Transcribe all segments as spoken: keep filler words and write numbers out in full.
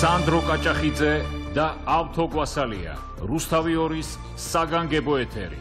სანდრო კაჭახიძე და ავთო კვასალია, რუსთავი ორის საგანგებო ეთერი.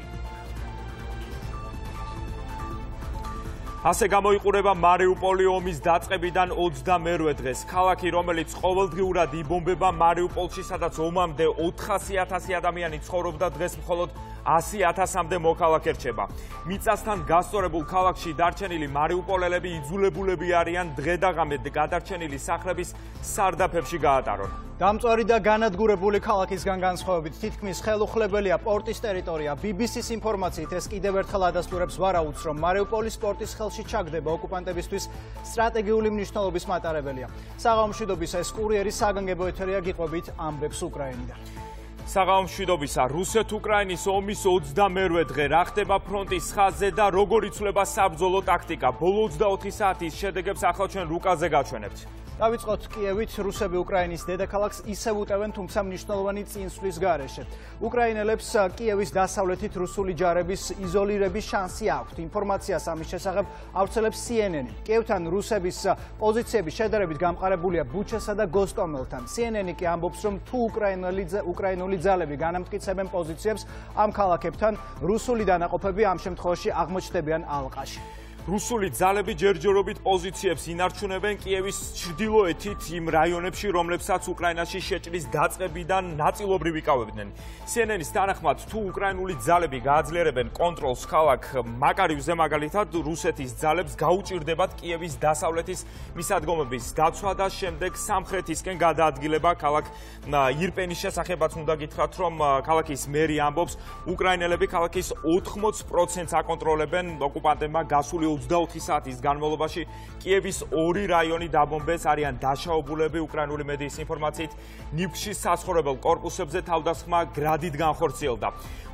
ასე გამოიყურება მარიუპოლი ომის დაწყებიდან ოცდამერვე დღეს. ქალაქი, რომელიც ყოველდღიურად იბომბება მარიუპოლში, სადაც ომამდე ოთხასი ათასი ადამიანი ცხოვრობდა, დღეს მხოლოდ ასი ათასამდე მოქალაქე რჩება. მიწასთან გასწორებულ ქალაქში დარჩენილი მარიუპოლელები იძულებულები არიან დღე და ღამე გადარჩენილი სახლების სარდაფებში გაატარონ. დამწვარი და განადგურებული ქალაქისგან განსხვავებით თითქმის ხელუხლებელია პორტის ტერიტორია. ბი ბი სის ინფორმაციით ეს კიდევ ერთხელ ადასტურებს ვარაუდს, რომ მარიუპოლის პორტის ხელში ჩაგდება ოკუპანტებისთვის სტრატეგიული მნიშვნელობის მატარებელია. საღამო მშვიდობის ეს კურიერი საგანგებო ეთერია, გიყვებით ამბებს უკრაინიდან. საღამო მშვიდობისა, რუსეთ-უკრაინის ომის ოცდამერვე დღე, რა ხდება ფრონტის ხაზზე და როგორ იცვლება საბრძოლო ტაქტიკა. ბოლო ოცდაოთხი საათის შედეგებს ახლა ჩვენ რუკაზე გაჩვენებთ. დავიწყოთ კიევით. რუსები უკრაინის დედაქალაქს ისევ უტევენ, თუმცა მნიშვნელოვანი წინსვლის გარეშე. უკრაინელებს კიევის დასავლეთით რუსული ჯარების იზოლირების შანსი აქვთ. ინფორმაციას ამის შესახებ ავრცელებს სი ენ ენი. კიევთან რუსების პოზიციები შედარებით გამყარებულია ბუჩასა და გოსტომელთან. სი ენ ენი კი ამბობს, რომ თუ უკრაინული ძალები განამტკიცებენ პოზიციებს ამ ქალაქებთან, რუსული დანაყოფები ამ შემთხვევაში აღმოჩნდებიან ალყაში. რუსული ძალები ჯერჯერობით პოზიციებს ინარჩუნებენ კიევის ჩრდილოეთით იმ რაიონებში, რომლებსაც უკრაინაში შეჭრის დაწყებიდან ნაწილობრივ იკავებდნენ. სი ენ ენის თანახმად, თუ უკრაინული ძალები გააძლიერებენ კონტროლს ქალაქ მაკარივზე, მაგალითად, რუსეთის ძალებს გაუჭირდებათ კიევის დასავლეთის მისადგომების დაცვა და შემდეგ სამხრეთისკენ გადაადგილება ქალაქ ირპენის შესახებაც უნდა გითხრათ, რომ ქალაქის მერი ამბობს, უკრაინელები ქალაქის ოთხმოც პროცენტს აკონტროლებენ, ოკუპანტებმა გასული ოცდაოთხი საათის განმავლობაში კიევის ორი რაიონი დაბომბეს, არიან დაშაობულები. უკრაინული მედიის ინფორმაციით, ნიფჩის საცხოვრებელ კორპუსებზე თავდასხმა გრადით განხორციელდა.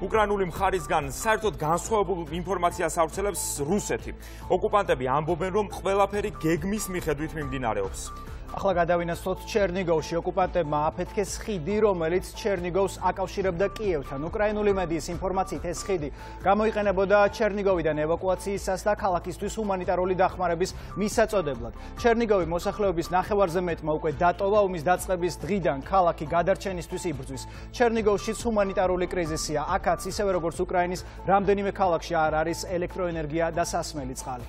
უკრაინული მხარისგან საერთოდ განსხვავებულ ინფორმაციას ავრცელებს რუსეთი. ოკუპანტები ამბობენ, რომ ყველაფერი გეგმის მიხედვით მიმდინარეობს. ახლა გადავინაცვლოთ ჩერნიგოვში. ოკუპანტებმა აფეთქეს ხიდი, რომელიც ჩერნიგოვს აკავშირებდა კიევთან. უკრაინული მედიის ინფორმაციით ეს ხიდი გამოიყენებოდა ჩერნიგოვიდან ევაკუაციისას და ქალაქისთვის ჰუმანიტარული დახმარების მისაწოდებლად. ჩერნიგოვი მოსახლეობის ნახევარზე მეტმა უკვე დატოვა. ომის დაწყების დღიდან ქალაქი გადარჩენისთვის იბრძვის. ჩერნიგოვშიც ჰუმანიტარული კრიზისია. აქაც ისევე როგორც უკრაინის რამდენიმე ქალაქში არ არის ელექტროენერგია და სასმელი წყალი.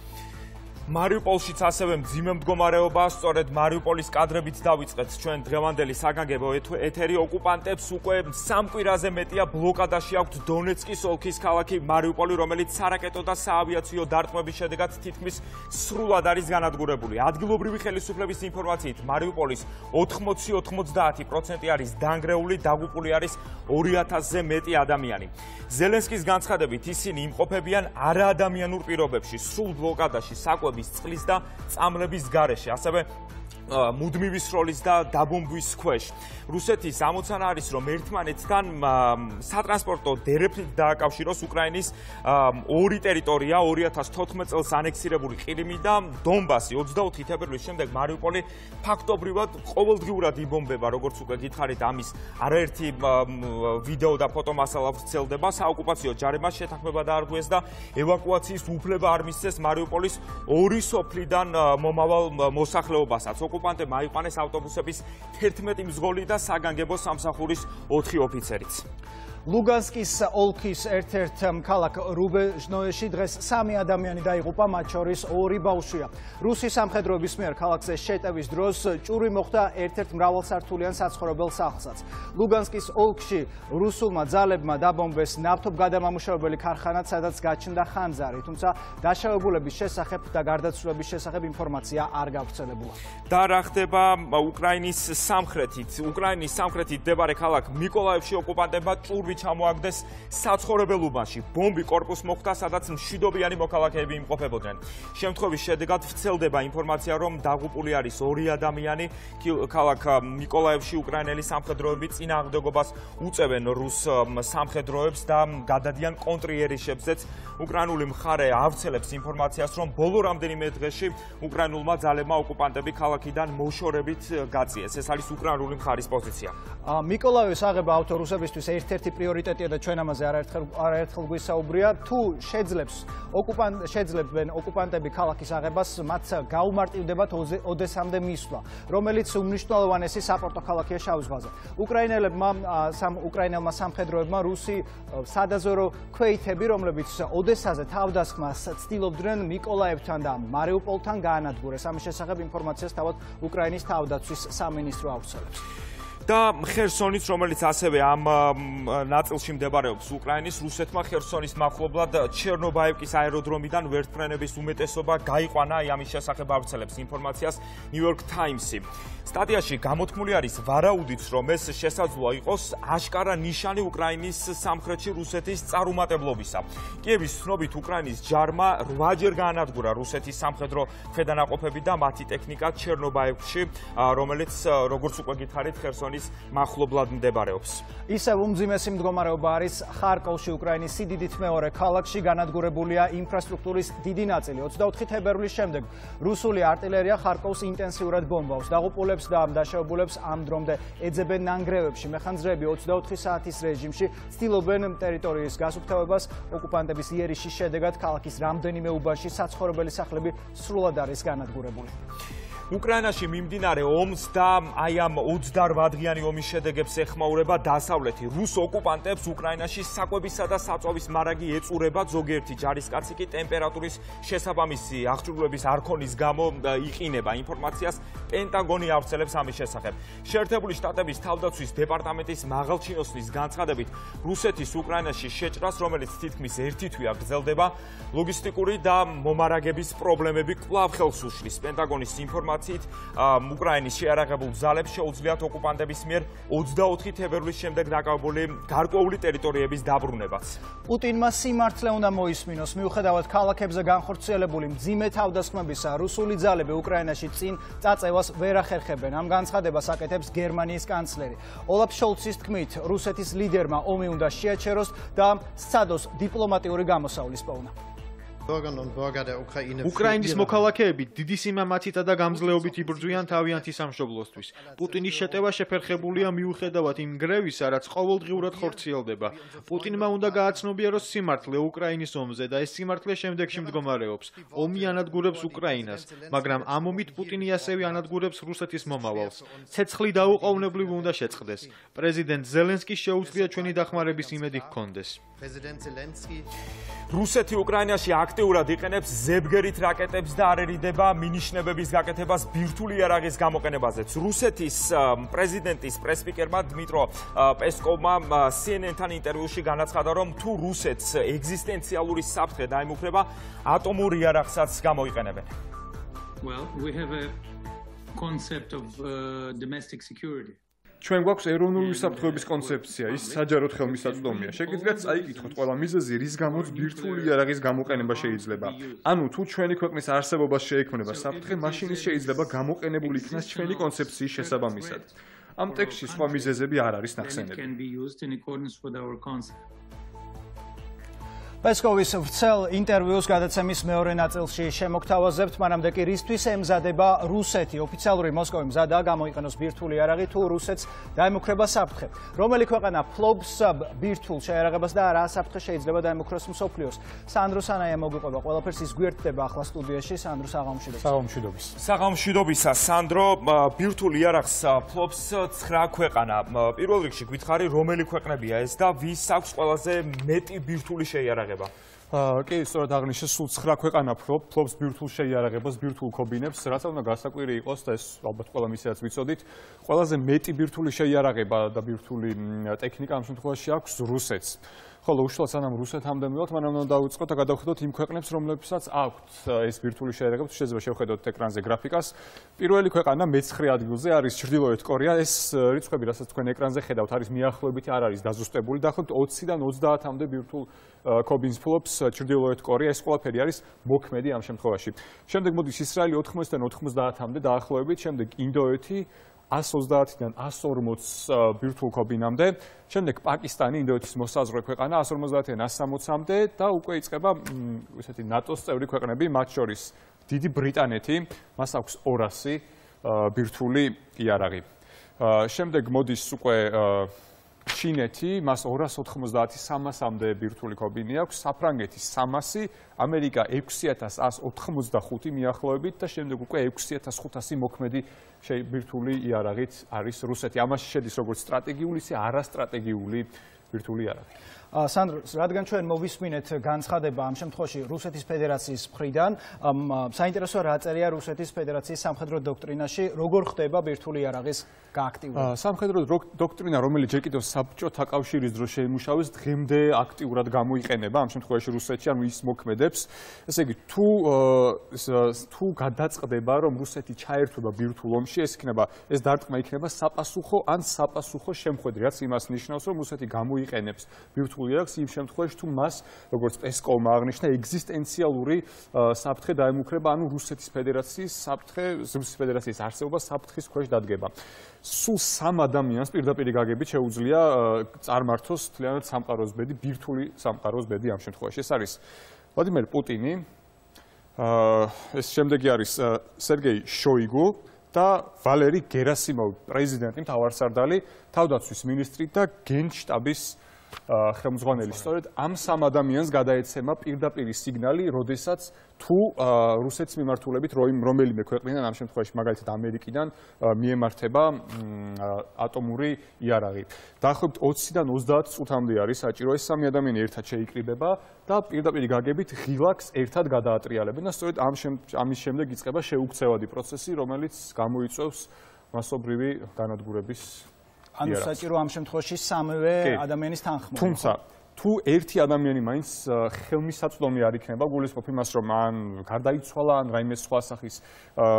მარიუპოლშიც ასევე მძიმე მდგომარეობაა. სწორედ მარიუპოლის კადრებით დავიწყეთ ჩვენ დღევანდელი საგანგებო ეთერი. ოკუპანტებს უკვე სამ კვირაზე მეტია ბლოკადაში აქვთ დონეცკის ოლქის ქალაქი მარიუპოლი, რომელიც სარაკეტო და საავიაციო დარტყმების შედეგად თითქმის სრულად არის განადგურებული. ადგილობრივი ხელისუფლების ინფორმაციით, მარიუპოლის ოთხმოცი ოცდაათი პროცენტი არის დანგრეული, დაღუპული არის ორი ათასზე მეტი ადამიანი. ზელენსკის განცხადებით, ისინი იმყოფებიან არაადამიანურ პირობებში, სრულ ბლოკადაში, საკვების, წყლის და წამლების გარეშე, ასევე მუდმივი სროლის და დაბომბვის ქვეშ. რუსეთის ამოცანა არის, რომ ერთმანეთთან სატრანსპორტო დერეფნით დააკავშიროს უკრაინის ორი ტერიტორია, ორი ათას თოთხმეტ წელს ანექსირებული ყირიმი და დონბასი. ოცდაოთხი თებერვლის შემდეგ მარიუპოლი ფაქტობრივად ყოველდღიურად იბომბება, როგორც უკვე გითხარით, ამის არაერთი ვიდეო და ფოტომასალა ვრცელდება. საოკუპაციო ჯარებმა შეთანხმება დაარღვიეს და ევაკუაციის უფლება არ მისცეს მარიუპოლის ორი სოფლიდან მომავალ მოსახლეობასაც. ოკუპანტებმა აიყვანეს ავტობუსების თერთმეტი მძღოლი და საგანგებო სამსახურის ოთხი ოფიცერიც. ლუგანსკის ოლქის ერთ-ერთ ქალაქ რუბეჟნოეში დღეს სამი ადამიანი დაიღუპა, მათ შორის ორი ბავშვია. რუსი სამხედროების მიერ ქალაქზე შეტევის დროს ჭური მოხდა ერთ-ერთ მრავალსართულიან საცხოვრებელ სახლსაც. ლუგანსკის ოლქში რუსულმა ძალებმა დაბომბეს ნავთობგადამამუშავებელი ქარხანა, სადაც გაჩნდა ხანძარი, თუმცა დაშავებულების შესახებ და გარდაცვლილების შესახებ ინფორმაცია არ გავრცელებულა. და რა ხდება უკრაინის სამხრეთით? უკრაინის სამხრეთით მდებარე ქალაქ მიკოლაევში ოკუპანტებმა ჭურვი ჩამოაგდეს საცხოვრებელ უბანში. ბომბი კორპუს მოხვდა, სადაც მშვიდობიანი მოქალაქეები იმყოფებოდნენ. შემთხვევის შედეგად ვრცელდება ინფორმაცია, რომ დაღუპული არის ორი ადამიანი. ქალაქ მიკოლაევში უკრაინელი სამხედროები წინააღმდეგობას უწევენ რუს სამხედროებს და გადადიან კონტრიერიშებზეც. უკრაინული მხარე ავრცელებს ინფორმაციას, რომ ბოლო რამდენიმე დღეში უკრაინულმა ძალებმა ოკუპანტები ქალაქიდან მოშორებით გაწიეს. ეს არის უკრაინული მხარის პოზიცია. მიკოლაევის აღება ავტორუსებისთვის ერთ-ერთი პრიორიტეტია და ჩვენ ამაზე არაერთხელ არაერთხელ გვისაუბრია. თუ შეძლებს ოკუპანტ შეძლებენ ოკუპანტები ქალაქის აღებას, მათ გაუმარტივდებათ ოდესამდე მისვლა, რომელიც უმნიშვნელოვანესი საპორტო ქალაქია შავ ზღვაზე. უკრაინელებმა სამ უკრაინელმა სამხედროებმა რუსი სადაზვერო ქვეითები, რომლებიც ოდესაზე თავდასხმას ცდილობდნენ მიკოლაევთან და მარიუპოლთან გაანადგურეს. ამის შესახებ ინფორმაციას თავად უკრაინის თავდაცვის სამინისტრო ავრცელებს. და ხერსონიც, რომელიც ასევე ამ ნაწილში მდებარეობს უკრაინის, რუსეთმა ხერსონის მახლობლად ჩერნობაევკის აეროდრომიდან ვერტმფრენების უმეტესობა გაიყვანა, აი ამის შესახებ ავრცელებს ინფორმაციას New York Times-ი. სტატიაში გამოთქმული არის ვარაუდიც, რომ ეს შესაძლოა იყოს აშკარა ნიშანი უკრაინის სამხრეთში რუსეთის წარუმატებლობისა. კიევის ცნობით უკრაინის ჯარმა რვაჯერ გაანადგურა რუსეთის სამხედრო ქვედანაყოფები და მათი ტექნიკა ჩერნობაევკში, რომელიც როგორც უკვე გითხარით, ხერსონის მახლობლად მდებარეობს. ისევ უმძიმესი მდგომარეობა არის ხარკოვში, უკრაინის სიდიდით მეორე ქალაქში, განადგურებულია ინფრასტრუქტურის დიდი ნაწილი. ოცდაოთხი თებერვლის შემდეგ რუსული არტილერია ხარკოვს ინტენსიურად ბომბავს. დაღუპულებს და დაშავებულებს ამ დრომდე ეძებენ ნანგრევებში. მეხანძრეები ოცდაოთხი საათის რეჟიმში ცდილობენ ტერიტორიის გასუფთავებას. ოკუპანტების იერიშის შედეგად ქალაქის რამდენიმე უბანში საცხოვრებელი სახლები სრულად არის განადგურებული. უკრაინაში მიმდინარე ომს და აი ამ ოცდარვა დღიანი ომის შედეგებს ეხმაურება დასავლეთი. რუს ოკუპანტებს უკრაინაში საკვებისა და საწვავის მარაგი ეწურება, ზოგიერთი ჯარისკაცი კი ტემპერატურის შესაბამისი აღჭურვილების არქონის გამო იყინება. ინფორმაციას პენტაგონი ავრცელებს ამის შესახებ. შეერთებული შტატების თავდაცვის დეპარტამენტის მაღალჩინოსნის განცხადებით, რუსეთის უკრაინაში შეჭრას, რომელიც თითქმის ერთი თვეა გრძელდება, ლოგისტიკური და მომარაგების პრობლემები კვლავ ხელს უშლის. პენტაგონის ინფორმაციით უკრაინის შეიარაღებულ ძალებს შეუძლიათ ოკუპანტების მიერ ოცდაოთხი თებერვლის შემდეგ დაკავებული გარკვეული ტერიტორიების დაბრუნებაც. პუტინმა სიმართლე უნდა მოისმინოს, მიუხედავად ქალაქებზე განხორციელებული მძიმე თავდასხმებისა, რუსული ძალები უკრაინაში წინ წაწევას ვერ ახერხებენ. ამ განცხადებას აკეთებს გერმანიის კანცლერი. ოლაფ შოლცის თქმით, რუსეთის ლიდერმა ომი უნდა შეაჩეროს და სცადოს დიპლომატიური გამოსავლის პოვნა. უკრაინის მოქალაქეები დიდი სიმამაცითა და გამძლეობით იბრძვიან თავიანთი სამშობლოსთვის. პუტინის შეტევა შეფერხებულია მიუხედავად იმ გრევისა, რაც ყოველდღიურად ხორციელდება. პუტინმა უნდა გააცნობიეროს სიმართლე უკრაინის ომზე და ეს სიმართლე შემდეგში მდგომარეობს. ომი ანადგურებს უკრაინას, მაგრამ ამ ომით პუტინი ასევე ანადგურებს რუსეთის მომავალს. ცეცხლი დაუყოვნებლივ უნდა შეწყდეს. პრეზიდენტ ზელენსკის შეუძლია ჩვენი დახმარების იმედი ჰქონდეს. რუსეთი უკრაინაში აქტიურად იყენებს ზებგერით რაკეტებს და არ ერიდება მინიშნებების გაკეთებას ბირთვული იარაღის გამოყენებაზეც. რუსეთის პრეზიდენტის პრესპიკერმა დმიტრო პესკოვმა C N N-თან ინტერვიუში განაცხადა, რომ თუ რუსეთს ეგზისტენციალური საფრთხე დაემუქრება, ატომურ იარაღსაც გამოიყენებენ. Well, we have a concept of uh, domestic security. ჩვენ გვაქვს ეროვნული საფრთხეების კონცეფცია, ის საჯაროდ ხელმისაწვდომია. შეგიძლიათ წაიკითხოთ ყველა მიზეზი, რის გამოც ბირთვული იარაღის გამოყენება შეიძლება. ანუ თუ ჩვენი ქვეყნის არსებობას შეექმნება საფრთხე, მაშინ ის შეიძლება გამოყენებული იქნას ჩვენი კონცეფციის შესაბამისად. ამ ტექსტში სხვა მიზეზები არ არის ნახსენები. პესკოვის ვრცელ ინტერვიუს გადაცემის მეორე ნაწილში შემოგთავაზებთ, მანამდე კი რისთვის ემზადება რუსეთი. ოფიციალური მოსკოვი მზადაა გამოიყენოს ბირთვული იარაღი, თუ რუსეთს დაემუქრება საფრთხე. რომელი ქვეყანა ფლობს ბირთვულ შეიარაღებას და რა საფრთხე შეიძლება დაემუქროს მსოფლიოს. სანდრო სანაია მოგვიყვება ყველაფერს, ის გვერდდება ახლა სტუდიაში. სანდრო, საღამოშიდობის. საღამოშიდობის. საღამოშიდობისა, სანდრო, ბირთვულ იარაღს ფლობს ცხრა ქვეყანა. პირველ რიგში გითხარი, რომელი ქვეყნებია ეს და ვის აქვს ყველაზე მეტი ბირთვული შეიარაღება? კი, სწორად აღნიშნე, სულ ცხრა ქვეყანა ფლობს ბირთვულ შეიარაღებას, ბირთვულ ქობინებს, რაც უნდა გასაკვირი იყოს და ეს ალბათ ყველა მისიაც ვიცოდით. ყველაზე მეტი ბირთვული შეიარაღება და ბირთვული ტექნიკა ამ შემთხვევაში აქვს რუსეთს. ხოლო უშუალოდ სანამ რუსეთამდე მივიდეთ, მანამ უნდა დავიწყოთ და გადავხედოთ იმ ქვეყნებს, რომლებსაც აქვთ ეს ბირთვული შეიარაღება. შეიძლება შევხედოთ ეკრანზე გრაფიკას. პირველი ქვეყანა მეცხრე ადგილზე არის ჩრდილოეთ კორეა. ეს რიცხვები, რასაც თქვენ ეკრანზე ხედავთ, არის მიახლოებითი, არ არის დაზუსტებული. დაახლოებით ოციდან ოცდაათამდე ბირთვულ ქობინს ფლობს ჩრდილოეთ კორეა. ეს ყველაფერი არის მოქმედი ამ შემთხვევაში. შემდეგ მოდის ისრაელი ოთხმოციდან ოთხმოცდაათამდე დაახლოებით, შემდეგ ინდოეთი one ოცდაათიდან one ორმოც ბირთვულ ქობინამდე, შემდეგ პაკისტანი, ინდოეთის მოსაზღვრე ქვეყანა one ორმოცდაათიდან one სამოცამდე და უკვე იწყება ესეთი ნატოს წევრი ქვეყნები, მათ შორის დიდი ბრიტანეთი, მას აქვს ორასი ბირთვული იარაღი. შემდეგ მოდის უკვე ჩინეთი, მას ორას ოთხმოცდაათი სამასამდე ბირთვული კობინი აქვს, საფრანგეთი სამასი, ამერიკა ექვსი ათას ათს ოთხმოცდახუთი მიახლოებით და შემდეგ უკვე ექვსი ათას ხუთასი მოქმედი ბირთვული იარაღით არის რუსეთი. ამაში შედის როგორც სტრატეგიული, ისე არასტრატეგიული ბირთვული იარაღი. სანდრო, რადგან ჩვენ მოვისმინეთ განცხადება ამ შემთხვევაში რუსეთის ფედერაციის მხრიდან, საინტერესოა რა წერია რუსეთის ფედერაციის სამხედრო დოქტრინაში, როგორ ხდება ბირთვული იარაღის გააქტიურება? სამხედრო დოქტრინა, რომელიც ჯერ კიდევ საბჭოთა კავშირის დროს შეიმუშავეს, დღემდე აქტიურად გამოიყენება ამ შემთხვევაში რუსეთში, ანუ ის მოქმედებს. ესე იგი, თუ თუ გადაწყდება, რომ რუსეთი ჩაერთვება ბირთვულ ომში, ეს იქნება, ეს დარტყმა იქნება საპასუხო ან საპასუხო შემხვედრი, რაც იმას ნიშნავს, რომ რუსეთი გამოიყენებს ბირთვულ იარაღს იმ შემთხვევაში, თუ მას, როგორც პესკოვმა აღნიშნა, ეგზისტენციალური საფრთხე დაემუქრება, ანუ რუსეთის ფედერაციის საფრთხე, რუსეთის ფედერაციის არსებობა საფრთხის ქვეშ დადგება. სულ სამ ადამიანს პირდაპირ გაგებით შეუძლია წარმართოს თლიანად სამყაროს ბედი, ბირთვული სამყაროს ბედი ამ შემთხვევაში. ეს არის ვლადიმერ პუტინი, ეს შემდეგი არის სერგეი შოიგუ და ვალერი გერასიმოვი, პრეზიდენტი, მთავარსარდალი, თავდაცვის მინისტრი და გენშტაბის ხელმძღვანელი. სწორედ ამ სამ ადამიანს გადაეცემა პირდაპირი სიგნალი, როდესაც თუ რუსეთის მიმართულებით რომელიმე ქვეყნიდან, ამ შემთხვევაში მაგალითად ამერიკიდან მიემართება ატომური იარაღი. დაახლოებით ოციდან ოცდაათ წუთამდე არის საჭირო, ეს სამი ადამიანი ერთად შეიკრიბება და პირდაპირ გაგებით ღილაკს ერთად გადაატრიალებენ და სწორედ ამის შემდეგ იწყება შეუქცევადი პროცესი, რომელიც გამოიწვევს მასობრივი განადგურების ანუ საჭირო ამ შემთხვევაში სამივე ადამიანის თანხმობა. თუმცა თუ ერთი ადამიანი მაინც ხელმისაწვდომი არ იქნება, გულისხმობ იმას, რომ ან გარდაიცვალა, ან რაიმე სხვა სახის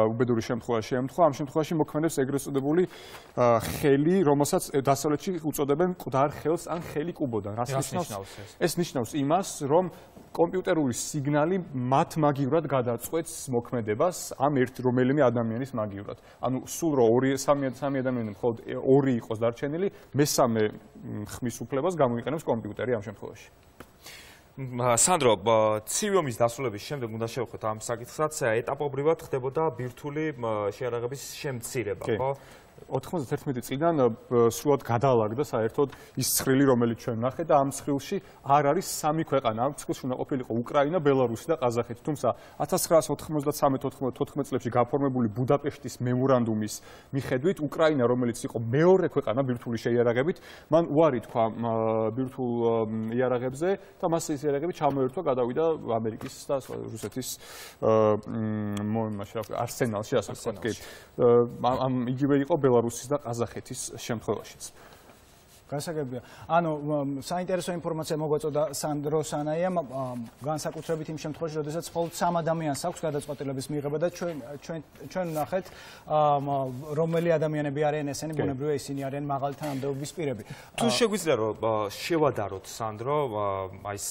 უბედური შემთხვევა შეემთხვა, ამ შემთხვევაში მოქმედებს ეგრეთ წოდებული ხელი, რომელსაც დასავლეთში უწოდებენ მკვდარ ხელს ან ხელი კუბოდან. რას ნიშნავს ეს? ეს ნიშნავს იმას, რომ კომპიუტერული სიგნალი მათ მაგივრად გადაწყვეტს მოქმედებას ამ ერთ რომელიმე ადამიანის მაგივრად. ანუ სულ რო ორი სამი სამი ადამიანი მხოლოდ ორი იყოს დარჩენილი, მესამე ხმის უფლებას გამოიყენებს კომპიუტერი ამ შემთხვევაში. სანდრო, ცივი ომის დასრულების შემდეგ უნდა შევხვდეთ ამ საკითხსაც, ეტაპობრივად ხდებოდა ბირთვული შეიარაღების შემცირება, ხო? ოთხმოცდაერთმეტი წლიდან სრულად გადაალაგდა საერთოდ ის ცხრილი, რომელიც ჩვენ ვნახეთ და ამ ცხრილში არ არის სამი ქვეყანა. ამ ცხრილში უნდა ყოფილიყო უკრაინა, ბელარუსი და ყაზახეთი. თუმცა ათას ცხრაას ოთხმოცდათრამეტ ოთხმოცდაოთხ წლებში გაფორმებული ბუდაპეშტის მემორანდუმის მიხედვით, უკრაინა, რომელიც იყო მეორე ქვეყანა ბირთვული შეიარაღებით, მან უარი თქვა ბირთვულ იარაღებზე და მას ეს იარაღები ჩამოერთვა, გადავიდა ამერიკის და რუსეთის არსენალში, ასე ვთქვათ. ამ იგივე იყო ბელარუსის და ყაზახეთის შემთხვევაშიც. გასაგებია. ანუ საინტერესო ინფორმაცია მოგვაწოდა სანდრო სანაიამ, განსაკუთრებით იმ შემთხვევაში, როდესაც მხოლოდ სამ ადამიანს აქვს გადაწყვეტილების მიღება და ჩვენ ჩვენ ჩვენ ვნახეთ, რომელი ადამიანები არიან ესენი, ბუნებრივია ისინი არიან მაღალი თანამდებობის პირები. თუ შეგვიძლია რომ შევადაროთ სანდრო, აი ეს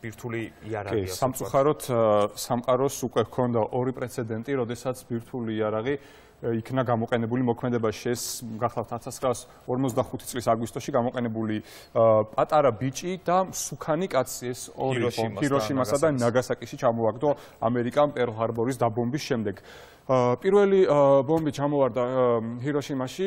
ბირთვული იარაღი. სამწუხაროდ სამყაროს უკვე ჰქონდა ორი პრეცედენტი, როდესაც ბირთვული იარაღი იქნა გამოყენებული მოქმედებაში. ეს გახლავთ ათას ცხრაას ორმოცდახუთი წლის აგვისტოში გამოყენებული პატარა ბიჭი და მსუქანი კაცი, ეს ორი ჰიროშიმასა და ნაგასაკიში ჩამოაგდო ამერიკამ პერლ ჰარბორის დაბომბვის შემდეგ. პირველი ბომბი ჩამოვარდა ჰიროშიმაში,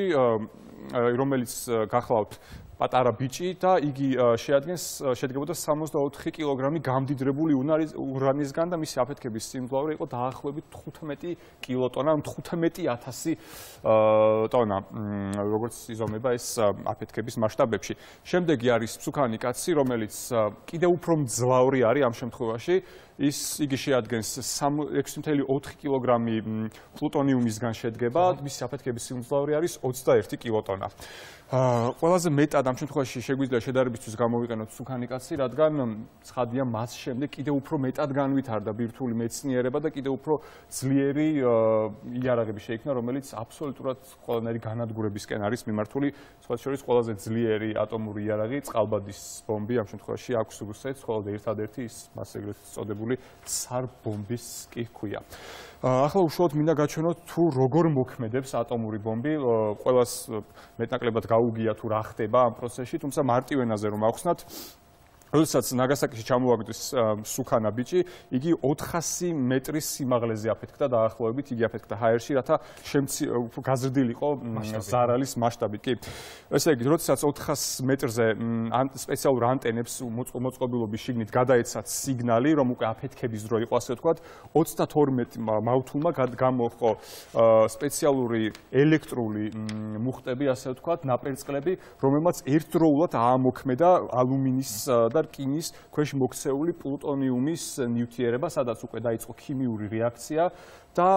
რომელიც გახლავთ პატარა ბიჭი და იგი შეადგენს შედგებოდა სამოცდაოთხი კილოგრამი გამდიდრებული ურანისგან და მისი აფეთქების სიმძლავრე იყო დაახლოებით თხუთმეტი კილოტონა, თხუთმეტი ათასი ტონა, როგორც იზომება ეს აფეთქების მასშტაბებში. შემდეგი არის მსუქანი კაცი, რომელიც კიდევ უფრო მძლავრი არის ამ შემთხვევაში. ის იგი შეადგენს ექვსი კoma ოთხი კილოგრამი პლუტონიუმისგან შედგება, მისი აფეთქების სიმძლავრე არის ოცდაერთი კილოტონა. ყველაზე მეტად ამ შემთხვევაში შეგვიძლია შედარებისთვის გამოვიყენოთ მსუქანი კაცი, რადგან ცხადია მას შემდეგ კიდევ უფრო მეტად განვითარდა ბირთვული მეცნიერება და კიდევ უფრო ძლიერი იარაღები შეიქმნა, რომელიც აბსოლუტურად ყველანაირი განადგურებისკენ არის მიმართული. სხვა შორის ყველაზე ძლიერი ატომური იარაღი, წყალბადის ბომბი ამ შემთხვევაში აქვს რუსეთს, ხოლო ერთადერთი ის მას ეგრეთ წოდებული ცარ ბომბის კი ჰქვია. ახლა უშუალოდ მინდა გაჩვენოთ თუ როგორ მოქმედებს ატომური ბომბი. ყველას მეტნაკლებად გაუგია თუ რა ხდება ამ პროცესში, თუმცა მარტივ ენაზე რომ ავხსნათ, როდესაც ნაგასაკიში ჩამოვაგდეს სუქანა ბიჭი, იგი ოთხასი მეტრის სიმაღლეზე აფეთქდა დაახლოებით, იგი აფეთქდა ჰაერში, რათა შემცი გაზრდილიყო ზარალის მასშტაბით. კი. ესე იგი, როდესაც ოთხასი მეტრზე სპეციალურ ანტენებს მოწყობილობის შიგნით გადაეცათ სიგნალი, რომ უკვე აფეთქების დრო იყო, ასე ვთქვათ, ოცდათორმეტ მავთულმა გამოჰყო სპეციალური ელექტრული მუხტები, ასე ვთქვათ, ნაპერწკლები, რომელმაც ერთდროულად აამოქმედა ალუმინის და რკინის ქვეშ მოქცეული პლუტონიუმის ნივთიერება, სადაც უკვე დაიწყო ქიმიური რეაქცია და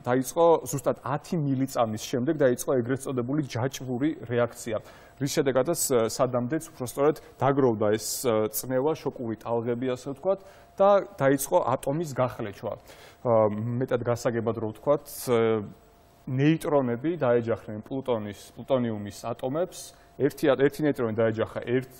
დაიწყო ზუსტად ათი მილიწამის შემდეგ დაიწყო ეგრეთ წოდებული ჯაჭვური რეაქცია. რის შედეგადაც სადამდეც უბრალოდ დაგროვდა ეს წნევა, შოკური ტალღები, ასე ვთქვათ, და დაიწყო ატომის გახლეჩვა. მეტად გასაგებად რო ვთქვათ, ნეიტრონები დაეჯახნენ პლუტონის, პლუტონიუმის ატომებს. ერთი ერთი ნეიტრონი დაეჯახა ერთ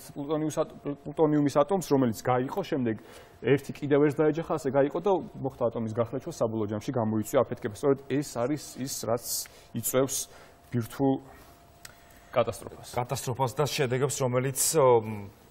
პლუტონიუმის ატომს, რომელიც გაიყო, შემდეგ ერთი კიდევ ერთ დაეჯახა, ასე გაიყო და მოხდა ატომის გახლეჩვა, საბოლოო ჯამში გამოიწვია აფეთქება. სწორედ ეს არის ის, რაც იწვევს ბირთვულ კატასტროფას. კატასტროფას და შედეგებს, რომელიც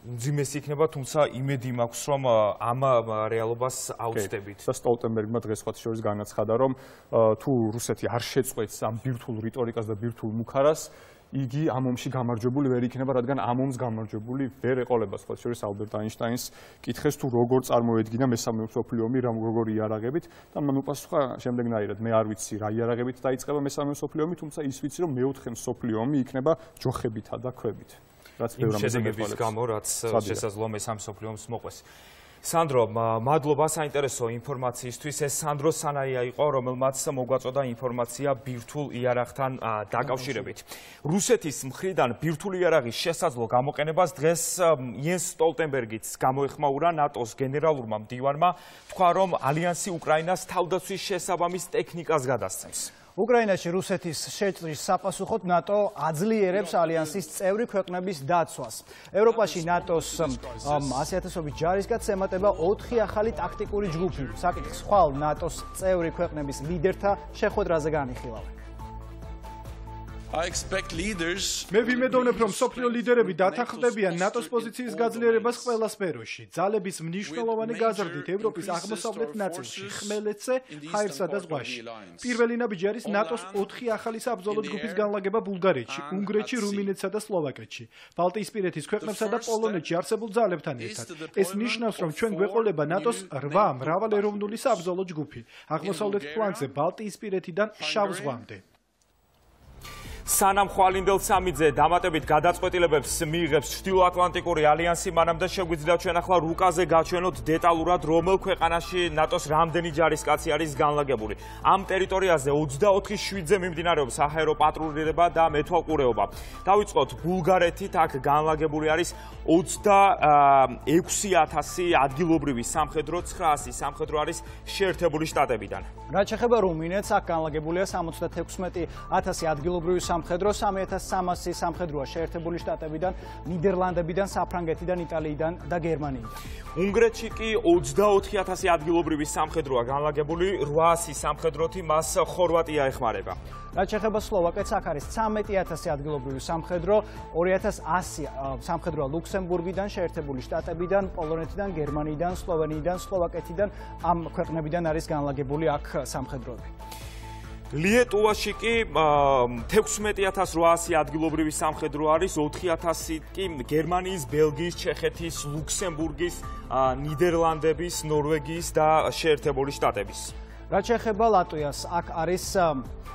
უძიმესი იქნება, თუმცა იმედი მაქვს, რომ ამ რეალობას აუცდებით. და სტოლტენბერგმა დღეს სხვა შორის განაცხადა, რომ თუ რუსეთი არ შეწყვეტს ამ ბირთვულ რიტორიკას და ბირთვულ მუქარას, იგი ამ ომში გამარჯვებული ვერ იქნება, რადგან ამ ომს გამარჯვებული ვერ ეყოლება. სხვა შორის ალბერტ აინშტაინს კითხეს, თუ როგორ წარმოედგინა მესამე მსოფლიო ომი, როგორ იარაღებით და მან უპასუხა შემდეგნაირად: მე არ ვიცი რა იარაღებით დაიწყება მესამე მსოფლიო ომი, თუმცა ის ვიცი, რომ მეოთხე მსოფლიო ომი იქნება ჯოხებითა და ქვებით. რაც ბევრ ამაზე შედეგების გამო, რაც შესაძლოა მესამე მსოფლიო ომს მოყვეს. სანდრო, მადლობა საინტერესო ინფორმაციისთვის. ეს სანდრო სანაია იყო, რომელმაც მოგვაწოდა ინფორმაცია ბირთვულ იარაღთან დაკავშირებით. რუსეთის მხრიდან ბირთვული იარაღის შესაძლო გამოყენებას დღეს იენს სტოლტენბერგიც გამოეხმაურა ნატოს გენერალურმა მდივანმა, თქვა, რომ ალიანსი უკრაინას თავდაცვის შესაბამის ტექნიკას გადასცემს. უკრაინაში რუსეთის შეჭრის საპასუხოდ ნატო აძლიერებს ალიანსის წევრი ქვეყნების დაცვას. ევროპაში ნატოს ასიათასობით ჯარისკაცს ემატება ოთხი ახალი ტაქტიკური ჯგუფი. საკითხს ხვალ ნატოს წევრი ქვეყნების ლიდერთა შეხვედრაზე განიხილავენ. მე ვიმედოვნებ, რომ სოფლიო ლიდერები დათანხმდებიან ნატოს პოზიციის გაძლიერებას ყველა სფეროში. ძალების მნიშვნელოვანი გაზრდით ევროპის აღმოსავლეთ ნაწილში, ხმელეთზე, ჰაერსა და ზღვაში. პირველი ნაბიჯი არის ნატოს ოთხი ახალი საბრძოლო ჯგუფის განლაგება ბულგარეთში, უნგრეთში, რუმინეთსა და სლოვაკეთში. ბალტიისპირეთის ქვეყნებსა და პოლონეთში არსებულ ძალებთან ერთად. ეს ნიშნავს, რომ ჩვენ გვეყოლება ნატოს რვა მრავალეროვნული საბრძოლო ჯგუფი. აღმოსავლეთ ფლანგზე ბალტიისპირეთიდან შავ ზღვამდე. სანამ ხვალინდელ სამიძე დამატებით გადაწყვეტილებებს მიიღებს ჩრდილოატლანტიკური ალიანსი, მანამდე შეგვიძლია ჩვენ ახლა რუკაზე გაჩვენოთ დეტალურად, რომელ ქვეყანაში ნატოს რამდენი ჯარისკაცი არის განლაგებული. ამ ტერიტორიაზე ოცდაოთხი შვიდზე მიმდინარეობს საჰაერო პატრულირება და მეთვალყურეობა. დავიწყოთ ბულგარეთით, აქ განლაგებული არის ოცდაექვსი ათასი ადგილობრივი სამხედრო, ცხრაასი სამხედრო არის შეერთებული შტატებიდან. რაც შეეხება რუმინეთს, აქ განლაგებულია სამოცდათექვსმეტი ათასი ადგილობრივი სამხედრო, სამი ათას სამასი სამხედროა შეერთებული შტატებიდან, ნიდერლანდებიდან, საფრანგეთიდან, იტალიიდან და გერმანიიდან. უნგრეთში კი ოცდაოთხი ათასი ადგილობრივი სამხედროა განლაგებული, რვაასი სამხედროთი მას ხორვატია ეხმარება. რაც შეეხება სლოვაკეთს, აქ არის ცხრამეტი ათასი ადგილობრივი სამხედრო, ორი ათას ასი სამხედროა ლუქსემბურგიდან, შეერთებული შტატებიდან, პოლონეთიდან, გერმანიიდან, სლოვენიიდან, სლოვაკეთიდან, ამ ქვეყნებიდან არის განლაგებული აქ სამხედროები. ლიეტუვაში კი თექვსმეტი ათას რვაასი ადგილობრივი სამხედრო არის, ოთხი ათასი კი გერმანიის, ბელგიის, ჩეხეთის, ლუქსემბურგის, ნიდერლანდების, ნორვეგიის და შეერთებული შტატების. რაც შეეხება ლატვიას, აქ არის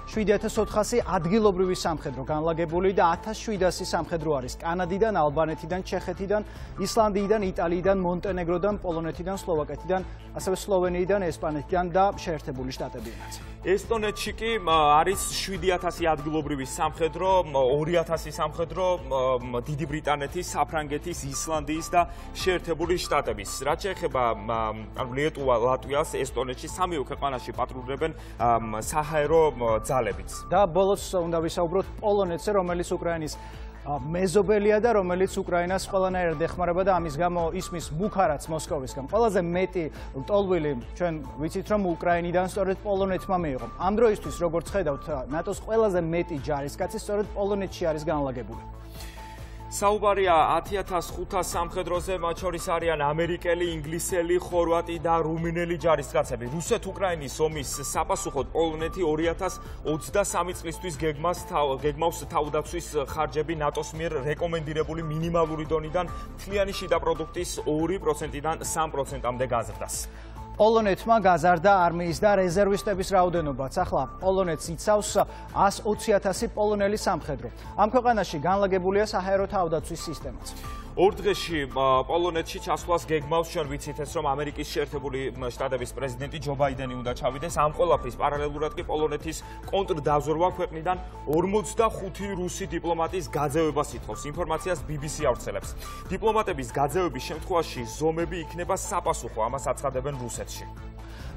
შვიდი ათას ოთხასი ადგილობრივი სამხედრო განლაგებული და ათას შვიდასი სამხედრო არის კანადიდან, ალბანეთიდან, ჩეხეთიდან, ისლანდიიდან, იტალიიდან, მონტენეგროდან, პოლონეთიდან, სლოვაკეთიდან, ასევე სლოვენიიდან, ესპანეთიდან და შეერთებული შტატებიდან. ესტონეთში კი არის შვიდი ათასი ადგილობრივი სამხედრო, ორი ათასი სამხედრო დიდი ბრიტანეთის, საფრანგეთის, ისლანდიის და შეერთებული შტატების. რაც შეეხება ლიეტუვა, ლატვიას, ესტონეთში სამივე ქვეყანაში პატრულირებენ საჰაერო ძალებიც. და ბოლოს უნდა ვისაუბროთ პოლონეთზე, რომელიც უკრაინის მეზობელია და რომელიც უკრაინას ყველანაირად ეხმარება და ამის გამო ისმის ბუქარაც მოსკოვისგან. ყველაზე მეტი ტოლვილი ჩვენ ვიცით, რომ უკრაინიდან სწორედ პოლონეთმა მიიღო. ამ დროისთვის, როგორც ხედავთ, ნატოს ყველაზე მეტი ჯარისკაცი სწორედ პოლონეთში არის განლაგებული. საუბარია ათი ათას ხუთას სამხედროზე, მათ შორის არიან ამერიკელი, ინგლისელი, ხორვატი და რუმინელი ჯარისკაცები. რუსეთ-უკრაინის ომის საპასუხოდ პოლონეთი ორი ათას ოცდასამი წლისთვის გეგმას გეგმავს თავდაცვის ხარჯები ნატოს მიერ რეკომენდირებული მინიმალური დონიდან მთლიანი შიდა პროდუქტის ორი პროცენტიდან სამ პროცენტამდე გაზრდას. პოლონეთმა გაზარდა არმიის და რეზერვისტების რაოდენობაც. ახლა პოლონეთს იცავს ას ოცი ათასი პოლონელი სამხედრო. ამ ქვეყანაში განლაგებულია საჰაერო თავდაცვის სისტემაც. ორ დღეში პოლონეთში ჩასვლას გეგმავს, ჩვენ ვიცით ეს, რომ ამერიკის შეერთებული შტატების პრეზიდენტი ჯო ბაიდენი უნდა ჩავიდეს. ამ ყველაფრის პარალელურად კი პოლონეთის კონტრდაზორვა ქვეყნიდან ორმოცდახუთი რუსი დიპლომატის გაძევებას ითხოვს. ინფორმაციას ბი ბი სი ავრცელებს. დიპლომატების გაძევების შემთხვევაში ზომები იქნება საპასუხო, ამას აცხადებენ რუსეთში.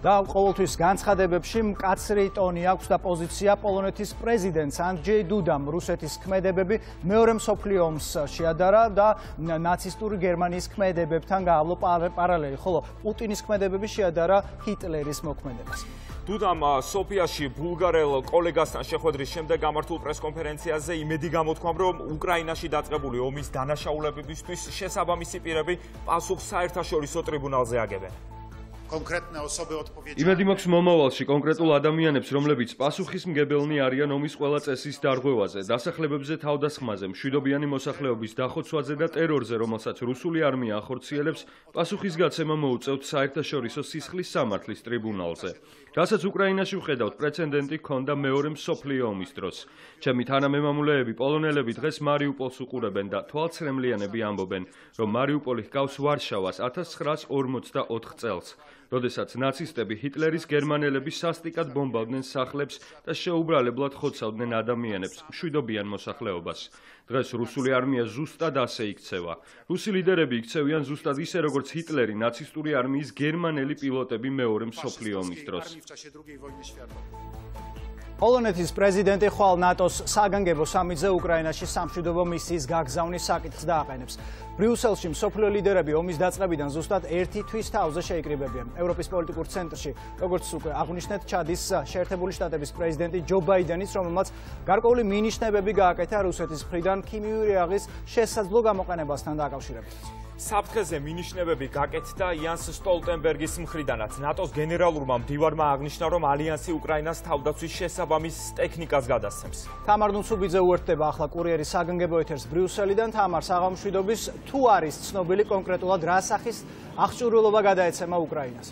და ყოველთვის განცხადებებში მკაცრი ტონი აქვს და პოზიცია პოლონეთის პრეზიდენტს ანდრეი დუდამ. რუსეთის ქმედებები მეორე მსოფლიო ომს შეადარა და ნაცისტური გერმანიის ქმედებებთან გაავლო პარალელი, ხოლო პუტინის ქმედებები შეადარა ჰიტლერის მოქმედებას. დუდამ სოფიაში ბულგარელ კოლეგასთან შეხვედრის შემდეგ გამართულ პრესკონფერენციაზე იმედი გამოთქვამ, რომ უკრაინაში დაწყებული ომის დანაშაულებებისთვის შესაბამისი პირები პასუხს საერთაშორისო ტრიბუნალზე აგებენ. იმედი მაქვს მომავალში კონკრეტულ ადამიანებს, რომლებიც პასუხისმგებელნი არიან ომის ყველა წესის დარღვევაზე, დასახლებებზე თავდასხმაზე, მშვიდობიანი მოსახლეობის დახოცვაზე და ტერორზე, რომელსაც რუსული არმია ახორციელებს, პასუხისგაცემა მოუწევთ საერთაშორისო სისხლის სამართლის ტრიბუნალზე. რასაც უკრაინაში ვხედავთ, პრეცედენტი ჰქონდა მეორე მსოფლიო ომის დროს. ჩემი თანამემამულეები პოლონელები დღეს მარიუპოლს უყურებენ და თვალცრემლიანები ამბობენ, რომ მარიუპოლი ჰგავს ვარშავას ათას ცხრაას ორმოცდაოთხ წელს. როდესაც ნაცისტები ჰიტლერის გერმანელები სასტიკად ბომბავდნენ სახლებს და შეუბრალებლად ხოცავდნენ ადამიანებს, მშვიდობიან მოსახლეობას. დღეს რუსული არმია ზუსტად ასე იქცევა. რუსი ლიდერები იქცევიან ზუსტად ისე, როგორც ჰიტლერი ნაცისტური არმიის გერმანელი პილოტები მეორე მსოფლიო ომის დროს. პოლონეთის პრეზიდენტი ხვალ ნატოს საგანგებო სამიტზე უკრაინაში სამშვიდობო მისიის გაგზავნის საკითხს დააყენებს. ბრიუსელში მსოფლიო ლიდერები ომის დაწყებიდან ზუსტად ერთი თვის თავზე შეიკრიბებიან. ევროპის პოლიტიკურ ცენტრში, როგორც უკვე აღნიშნეთ, ჩადის შეერთებული შტატების პრეზიდენტი ჯო ბაიდენის, რომელმაც გარკვეული მინიშნებები გააკეთა რუსეთის მხრიდან ქიმიური რეაღის შესაძლო გამოყენებასთან დაკავშირებით. საფრთხეზე მინიშნებები გაკეთდა იანს სტოლტენბერგის მხრიდანაც. ნატოს გენერალურმა მდივარმა აღნიშნა, რომ ალიანსი უკრაინას თავდაცვის შესაბამის ტექნიკას გადასცემს. თამარ ნუცუბიძე უერთდება ახლა კურიერის საგანგებო ეთერს ბრიუსელიდან. თამარ, საღამოშვიდობის თუ არის ცნობილი კონკრეტულად რა სახის აღჭურვილობა გადაეცემა უკრაინას?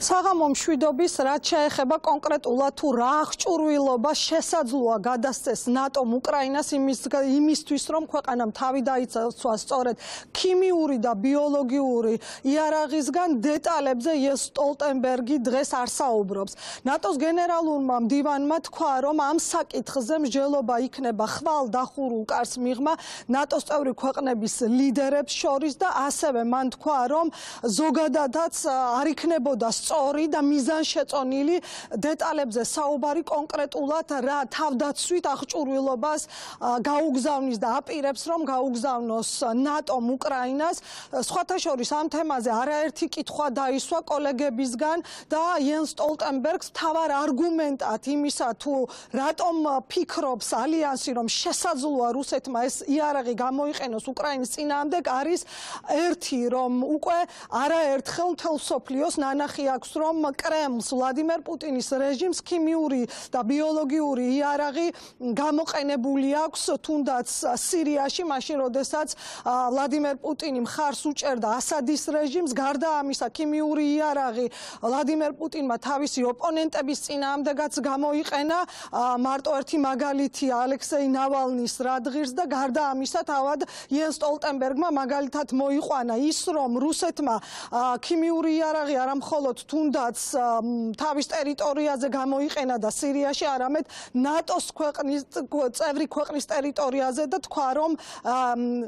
საღამო მშვიდობის, რაც შეეხება კონკრეტულად თუ რა აღჭურვილობა შესაძლოა გადასცეს ნატომ უკრაინას იმისთვის, რომ ქვეყანამ თავი დაიცვა სწორედ ქიმიური და ბიოლოგიური იარაღისგან, დეტალებზე იენს სტოლტენბერგი დღეს არ საუბრობს. ნატოს გენერალურმა მდივანმა თქვა, რომ ამ საკითხზე მსჯელობა იქნება ხვალ დახურულ კარს მიღმა ნატოს წევრი ქვეყნების ლიდერებს შორის და ასევე მან თქვა, რომ ზოგადადაც არ იქნებოდა სწორი და მიზანშეწონილი დეტალებზე საუბარი კონკრეტულად რა თავდაცვით აღჭურვილობას გაუგზავნის და აპირებს, რომ გაუგზავნოს ნატომ უკრაინას. სხვათა შორის ამ თემაზე არაერთი კითხვა დაისვა კოლეგებისგან და იენს სტოლტენბერგს მთავარ არგუმენტად იმისა, თუ რატომ ფიქრობს ალიანსი, რომ შესაძლოა რუსეთმა ეს იარაღი გამოიყენოს უკრაინის წინააღმდეგ, არის ერთი, რომ უკვე არაერთხელ მთელ მსოფლიოს ნანახი აქვს, რომ კრემლს ვლადიმერ პუტინის რეჟიმს ქიმიური და ბიოლოგიური იარაღი გამოყენებული აქვს, თუნდაც სირიაში, მაშინ როდესაც ვლადიმერ პუტინი მხარს უჭერდა ასადის რეჟიმს. გარდა ამისა, ქიმიური იარაღი ვლადიმერ პუტინმა თავისი ოპონენტების წინააღმდეგაც გამოიყენა. მარტო ერთი მაგალითია ალექსეი ნავალნის რადღირს და გარდა ამისა, თავად იენს სტოლტენბერგმა მაგალითად მოიყვანა ის, რომ რუსეთმა ქიმიური იარაღი არა მხოლოდ თუნდაც თავის ტერიტორიაზე გამოიყენა და სირიაში, არამედ ნატოს ქვეყნის წევრი ქვეყნის ტერიტორიაზე და თქვა, რომ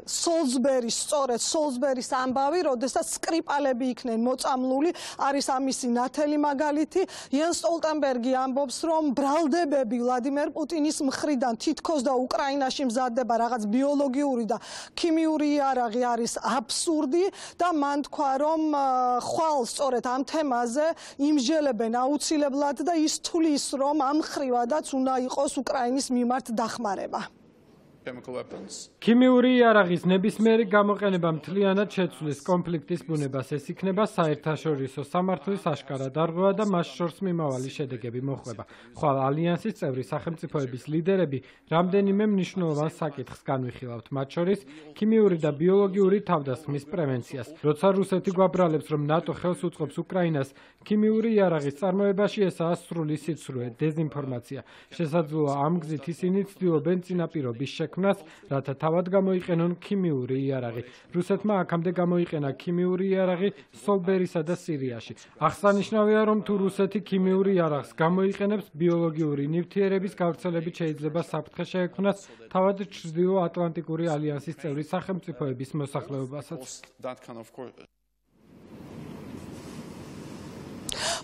სოლსბერის, სწორედ სოლსბერის ამბავი, როდესაც სკრიპალები იქნენ მოწამლული, არის ამისი ნათელი მაგალითი. იენს სტოლტენბერგი ამბობს, რომ ბრალდებები ვლადიმერ პუტინის მხრიდან თითქოს და უკრაინაში მზადდება რაღაც ბიოლოგიური და ქიმიური იარაღი არის აბსურდი და მან თქვა, რომ ხვალ სწორედ ამ თემაზე დონბასზე იმსჯელებენ აუცილებლად და ის თulis რომ ამ ხრივადაც უნდა იყოს უკრაინის მიმართ დახმარება. ქიმიური იარაღის ნებისმიერი გამოყენება მთლიანად შეცვლის კონფლიქტის ბუნებას. ეს იქნება საერთაშორისო სამართლის აშკარა დარღვევა და მას შორს მიმავალი შედეგები მოჰყვება. ხვალ ალიანსის წევრი სახელმწიფოების ლიდერები რამდენიმე მნიშვნელოვან საკითხს განვიხილავთ, მათ შორის ქიმიური და ბიოლოგიური თავდასხმის პრევენციას. როცა რუსეთი გვაბრალებს, რომ ნატო ხელს უწყობს უკრაინას ქიმიური იარაღის წარმოებაში, ესაა სრული სიცრუე, დეზინფორმაცია. შესაძლოა ამ გზით ისინი ცდილობენ წინაპირობის შექმნას, რათა თავად გამოიყენონ ქიმიური იარაღი. რუსეთმა აქამდე გამოიყენა ქიმიური იარაღი სოლბერისა და სირიაში. აღსანიშნავია, რომ თუ რუსეთი ქიმიური იარაღს გამოიყენებს, ბიოლოგიური ნივთიერების გავრცელებით შეიძლება საფრთხე შეექმნას თავად ჩრდილო-ატლანტიკური ალიანსის წევრი სახელმწიფოების მოსახლეობასაც.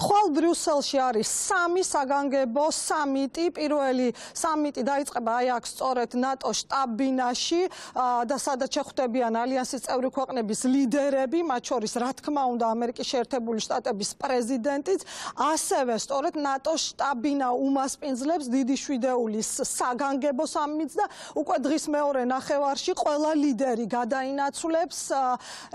ხვალ ბრიუსელში არის სამი საგანგებო სამიტი. პირველი სამიტი დაიწყება აი აქ სწორედ ნატო შტაბ-ბინაში და სადაც შეხვდებიან ალიანსის წევრი ქვეყნების ლიდერები, მათ შორის რა თქმა უნდა ამერიკის შეერთებული შტატების პრეზიდენტიც, ასევე სწორედ ნატო შტაბ-ბინა უმასპინძლებს დიდი შვიდეულის საგანგებო სამიტს და უკვე დღის მეორე ნახევარში ყველა ლიდერი გადაინაცვლებს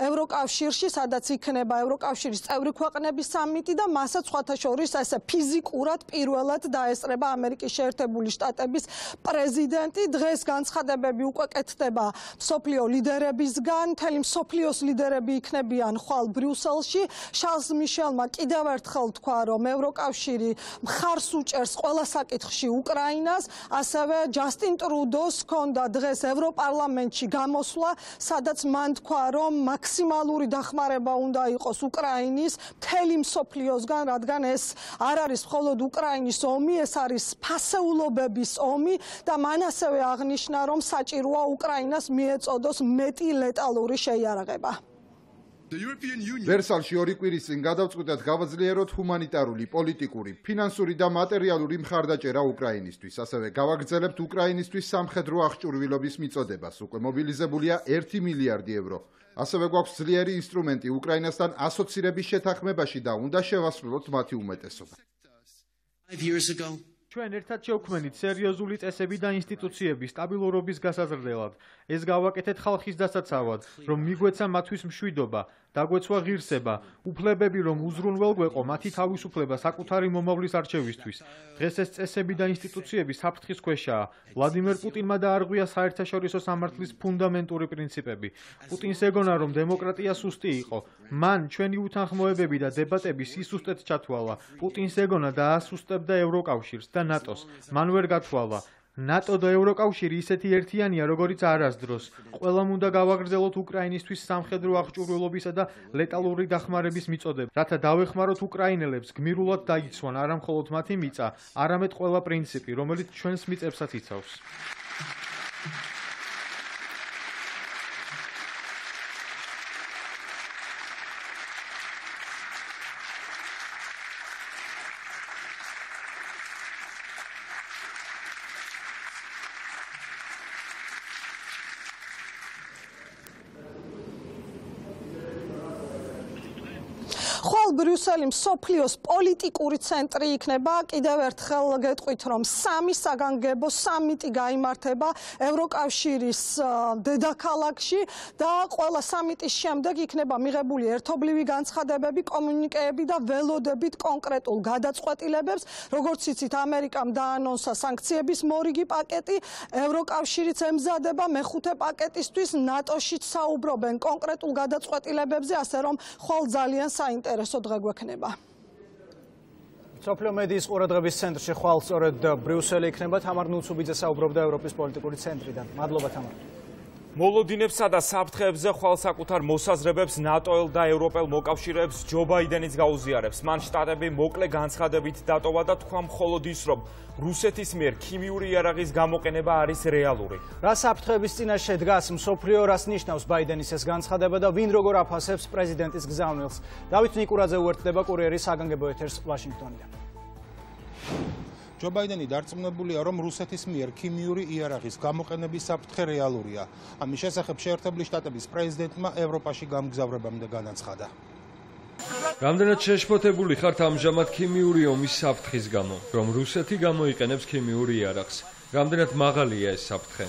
ევროკავშირში, სადაც იქნება ევროკავშირის წევრი ქვეყნების სამიტი და მასაც სხვათა შორის ესე ფიზიკურად პირველად დაესწრება ამერიკის შეერთებული შტატების პრეზიდენტი. დღეს განცხადებები უკვე კეთდება მსოფლიო ლიდერებისგან, მთელი მსოფლიოს ლიდერები იქნებიან ხვალ ბრიუსელში. შარლს მიშელმა კიდევ ერთხელ თქვა, რომ ევროკავშირი მხარს უჭერს ყველა საკითხში უკრაინას, ასევე ჯასტინ ტრუდოს ჰქონდა დღეს ევროპარლამენტში გამოსვლა, სადაც მან თქვა, რომ მაქსიმალური დახმარება უნდა იყოს უკრაინის მთელი მსოფლიოსგან, რადგან ეს არ არის მხოლოდ უკრაინის ომი, ეს არის ფასეულობების ომი და მან ასევე აღნიშნა, რომ საჭიროა უკრაინას მიეწოდოს მეტი ლეტალური შეიარაღება. ვერსალში ორი კვირის წინ გადავწყვიტეთ გავაძლიეროთ ჰუმანიტარული, პოლიტიკური, ფინანსური და მატერიალური მხარდაჭერა უკრაინისთვის. ასევე გავაგრძელებთ უკრაინისთვის სამხედრო აღჭურვილობის მიწოდებას. უკვე მობილიზებულია ერთი მილიარდი ევრო. ასევე გვაქვს ძლიერი ინსტრუმენტი უკრაინასთან ასოცირების შეთანხმებაში და უნდა შევასრულოთ მათი უმეტესობა. ჩვენ ერთად შევქმნით სერიოზული წესები და ინსტიტუციები სტაბილურობის გასაზრდელად. ეს გავაკეთეთ ხალხის დასაცავად, რომ მიგვეცა მათთვის მშვიდობა, დაგვეცვა ღირსება, უფლებები, რომ უზრუნველ გვეყო მათი თავისუფლება საკუთარი მომავლის არჩევისთვის. დღეს ეს წესები და ინსტიტუციები საფრთხის ქვეშაა. ვლადიმერ პუტინმა დაარღვია საერთაშორისო სამართლის ფუნდამენტური პრინციპები. პუტინს ეგონა, რომ დემოკრატია სუსტი იყო. მან ჩვენი უთანხმოებები და დებატები სისუსტედ ჩათვალა. პუტინს ეგონა დაასუსტებდა ევროკავშირს და ნატოს. მან ვერ გათვალა. ნატო და ევროკავშირი ისეთი ერთიანია, როგორიც არასდროს. ყველამ უნდა გავაგრძელოთ უკრაინისთვის სამხედრო აღჭურვილობისა და ლეტალური დახმარების მიწოდება, რათა დავეხმაროთ უკრაინელებს გმირულად დაიცვან არა მხოლოდ მათი მიწა, არამედ ყველა პრინციპი, რომელიც ჩვენს მიწებსაც იცავს. ხვალ ბრიუსელი მსოფლიოს პოლიტიკური ცენტრი იქნება. კიდევ ერთხელ გეტყვით, რომ სამი საგანგებო სამიტი გაიმართება ევროკავშირის დედაქალაქში და ყველა სამიტის შემდეგ იქნება მიღებული ერთობლივი განცხადებები, კომუნიკეები და ველოდებით კონკრეტულ გადაწყვეტილებებს. როგორც იცით, ამერიკამ დაანონსა სანქციების მორიგი პაკეტი, ევროკავშირიც ემზადება მეხუთე პაკეტისთვის, ნატოშიც საუბრობენ კონკრეტულ გადაწყვეტილებებზე, ასე რომ ხვალ ძალიან საინტერესო დღე გვექნება. სოფლიო მედიის ყურადღების ცენტრში ხვალ სწორედ ბრიუსელი იქნება. თამარ ნუცუბიძე საუბრობდა ევროპის პოლიტიკური ცენტრიდან. მადლობა თამარ. მოლოდინებსა და საფრთხეებზე ხვალ საკუთარ მოსაზრებებს ნატოელ და ევროპელ მოკავშირეებს ჯო ბაიდენიც გაუზიარებს. მან შტატები მოკლე განცხადებით დატოვა და თქვა მხოლოდ ის, რომ რუსეთის მიერ ქიმიური იარაღის გამოყენება არის რეალური. რა საფრთხეების წინაშე დგას მსოფლიო, რას ნიშნავს ბაიდენის ეს განცხადება და ვინ როგორ აფასებს პრეზიდენტის გზავნილს? დავით ნიკურაძე უერთდება კურიერის საგანგებო ეთერს ვაშინგტონიდან. ჯო ბაიდენი დარწმუნებულია, რომ რუსეთის მიერ ქიმიური იარაღის გამოყენების საფრთხე რეალურია. ამის შესახებ შეერთებული შტატების პრეზიდენტმა ევროპაში გამგზავრებამდე განაცხადა. რამდენად შეშფოთებული ხართ ამჟამად ქიმიური ომის საფრთხის გამო, რომ რუსეთი გამოიყენებს ქიმიურ იარაღს? რამდენად მაღალია ეს საფრთხე?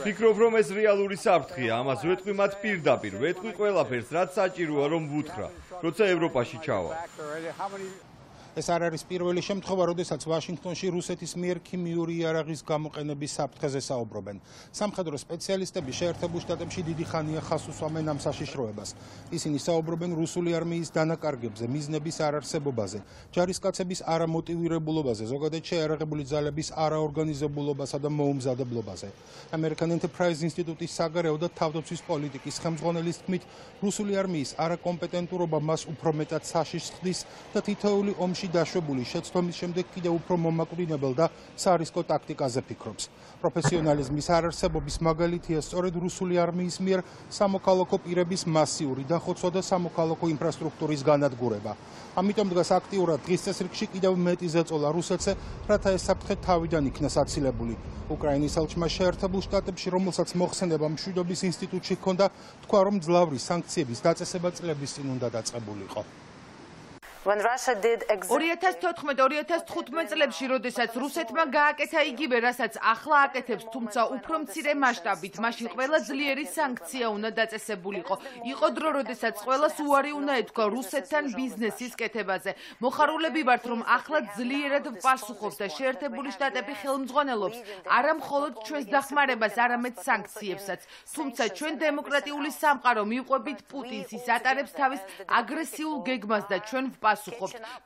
ფიქრობ, რომ ეს რეალური საფრთხეა, ამას ვეტყვი მათ პირდაპირ, ვეტყვი ყველაფერს, რაც საჭიროა, რომ ვუთხრა, როცა ევროპაში ჩავა. ეს არ არის პირველი შემთხვევა, როდესაც ვაშინგტონში რუსეთის მიერ ქიმიური იარაღის გამოყენების საფრთხეზე საუბრობენ. სამხედრო სპეციალისტები შეერთებულ შტატებში დიდი ხანია ხაზს უსვამენ ამ საშიშროებას. ისინი საუბრობენ რუსული არმიის დანაკარგებზე, მიზნების არარსებობაზე, ჯარისკაცების არამოტივირებულობაზე, ზოგადად შეიარაღებული ძალების არაორგანიზებულობასა და მოუმზადებლობაზე. American Enterprise ინსტიტუტის საგარეო და თავდაცვის პოლიტიკის ხელმძღვანელის თქმით, რუსული არმიის არაკომპეტენტურობა მას უფრო მეტად საშიშს ხდის და თითოეული ომში დაშვებული შეცდომის შემდეგ კიდევ უფრო მომაკვდინებელ და სარისკო ტაქტიკაზე ფიქრობს. პროფესიონალიზმის არარსებობის მაგალითია სწორედ რუსული არმიის მიერ სამოქალაქო პირების მასიური დახოცვა და სამოქალაქო ინფრასტრუქტურის განადგურება. ამიტომ დგას აქტიურად დღის წესრიგში კიდევ მეტი ზეწოლა რუსეთზე, რათა ეს საფრთხე თავიდან იქნას აცილებული. უკრაინის ელჩმა შეერთებულ შტატებში, რომელსაც მოხსენება მშვიდობის ინსტიტუტში ჰქონდა, თქვა, რომ მძლავრი სანქციების დაწესება წლების წინ უნდა დაწყებულიყო. ორი ათას თოთხმეტ ორი ათას თხუთმეტ წლებში, როდესაც რუსეთმა გააკეთა იგივე, რასაც ახლა აკეთებს, თუმცა უფრო მცირე მასშტაბით, მაშინ ყველა ძლიერი სანქცია უნდა დაწესებულიყო. იყო დრო, როდესაც ყველას უარი უნდა ეთქვა რუსეთთან ბიზნესის კეთებაზე. მოხარულები ვართ, რომ ახლა ძლიერად ვპასუხობთ და შეერთებული შტატები ხელმძღვანელობს არა მხოლოდ ჩვენს დახმარებას, არამედ სანქციებსაც. თუმცა ჩვენ დემოკრატიული სამყარო მივყვებით პუტინს, ის ატარებს თავის აგრესიულ გეგმას და ჩვენ ვპასუხობთ.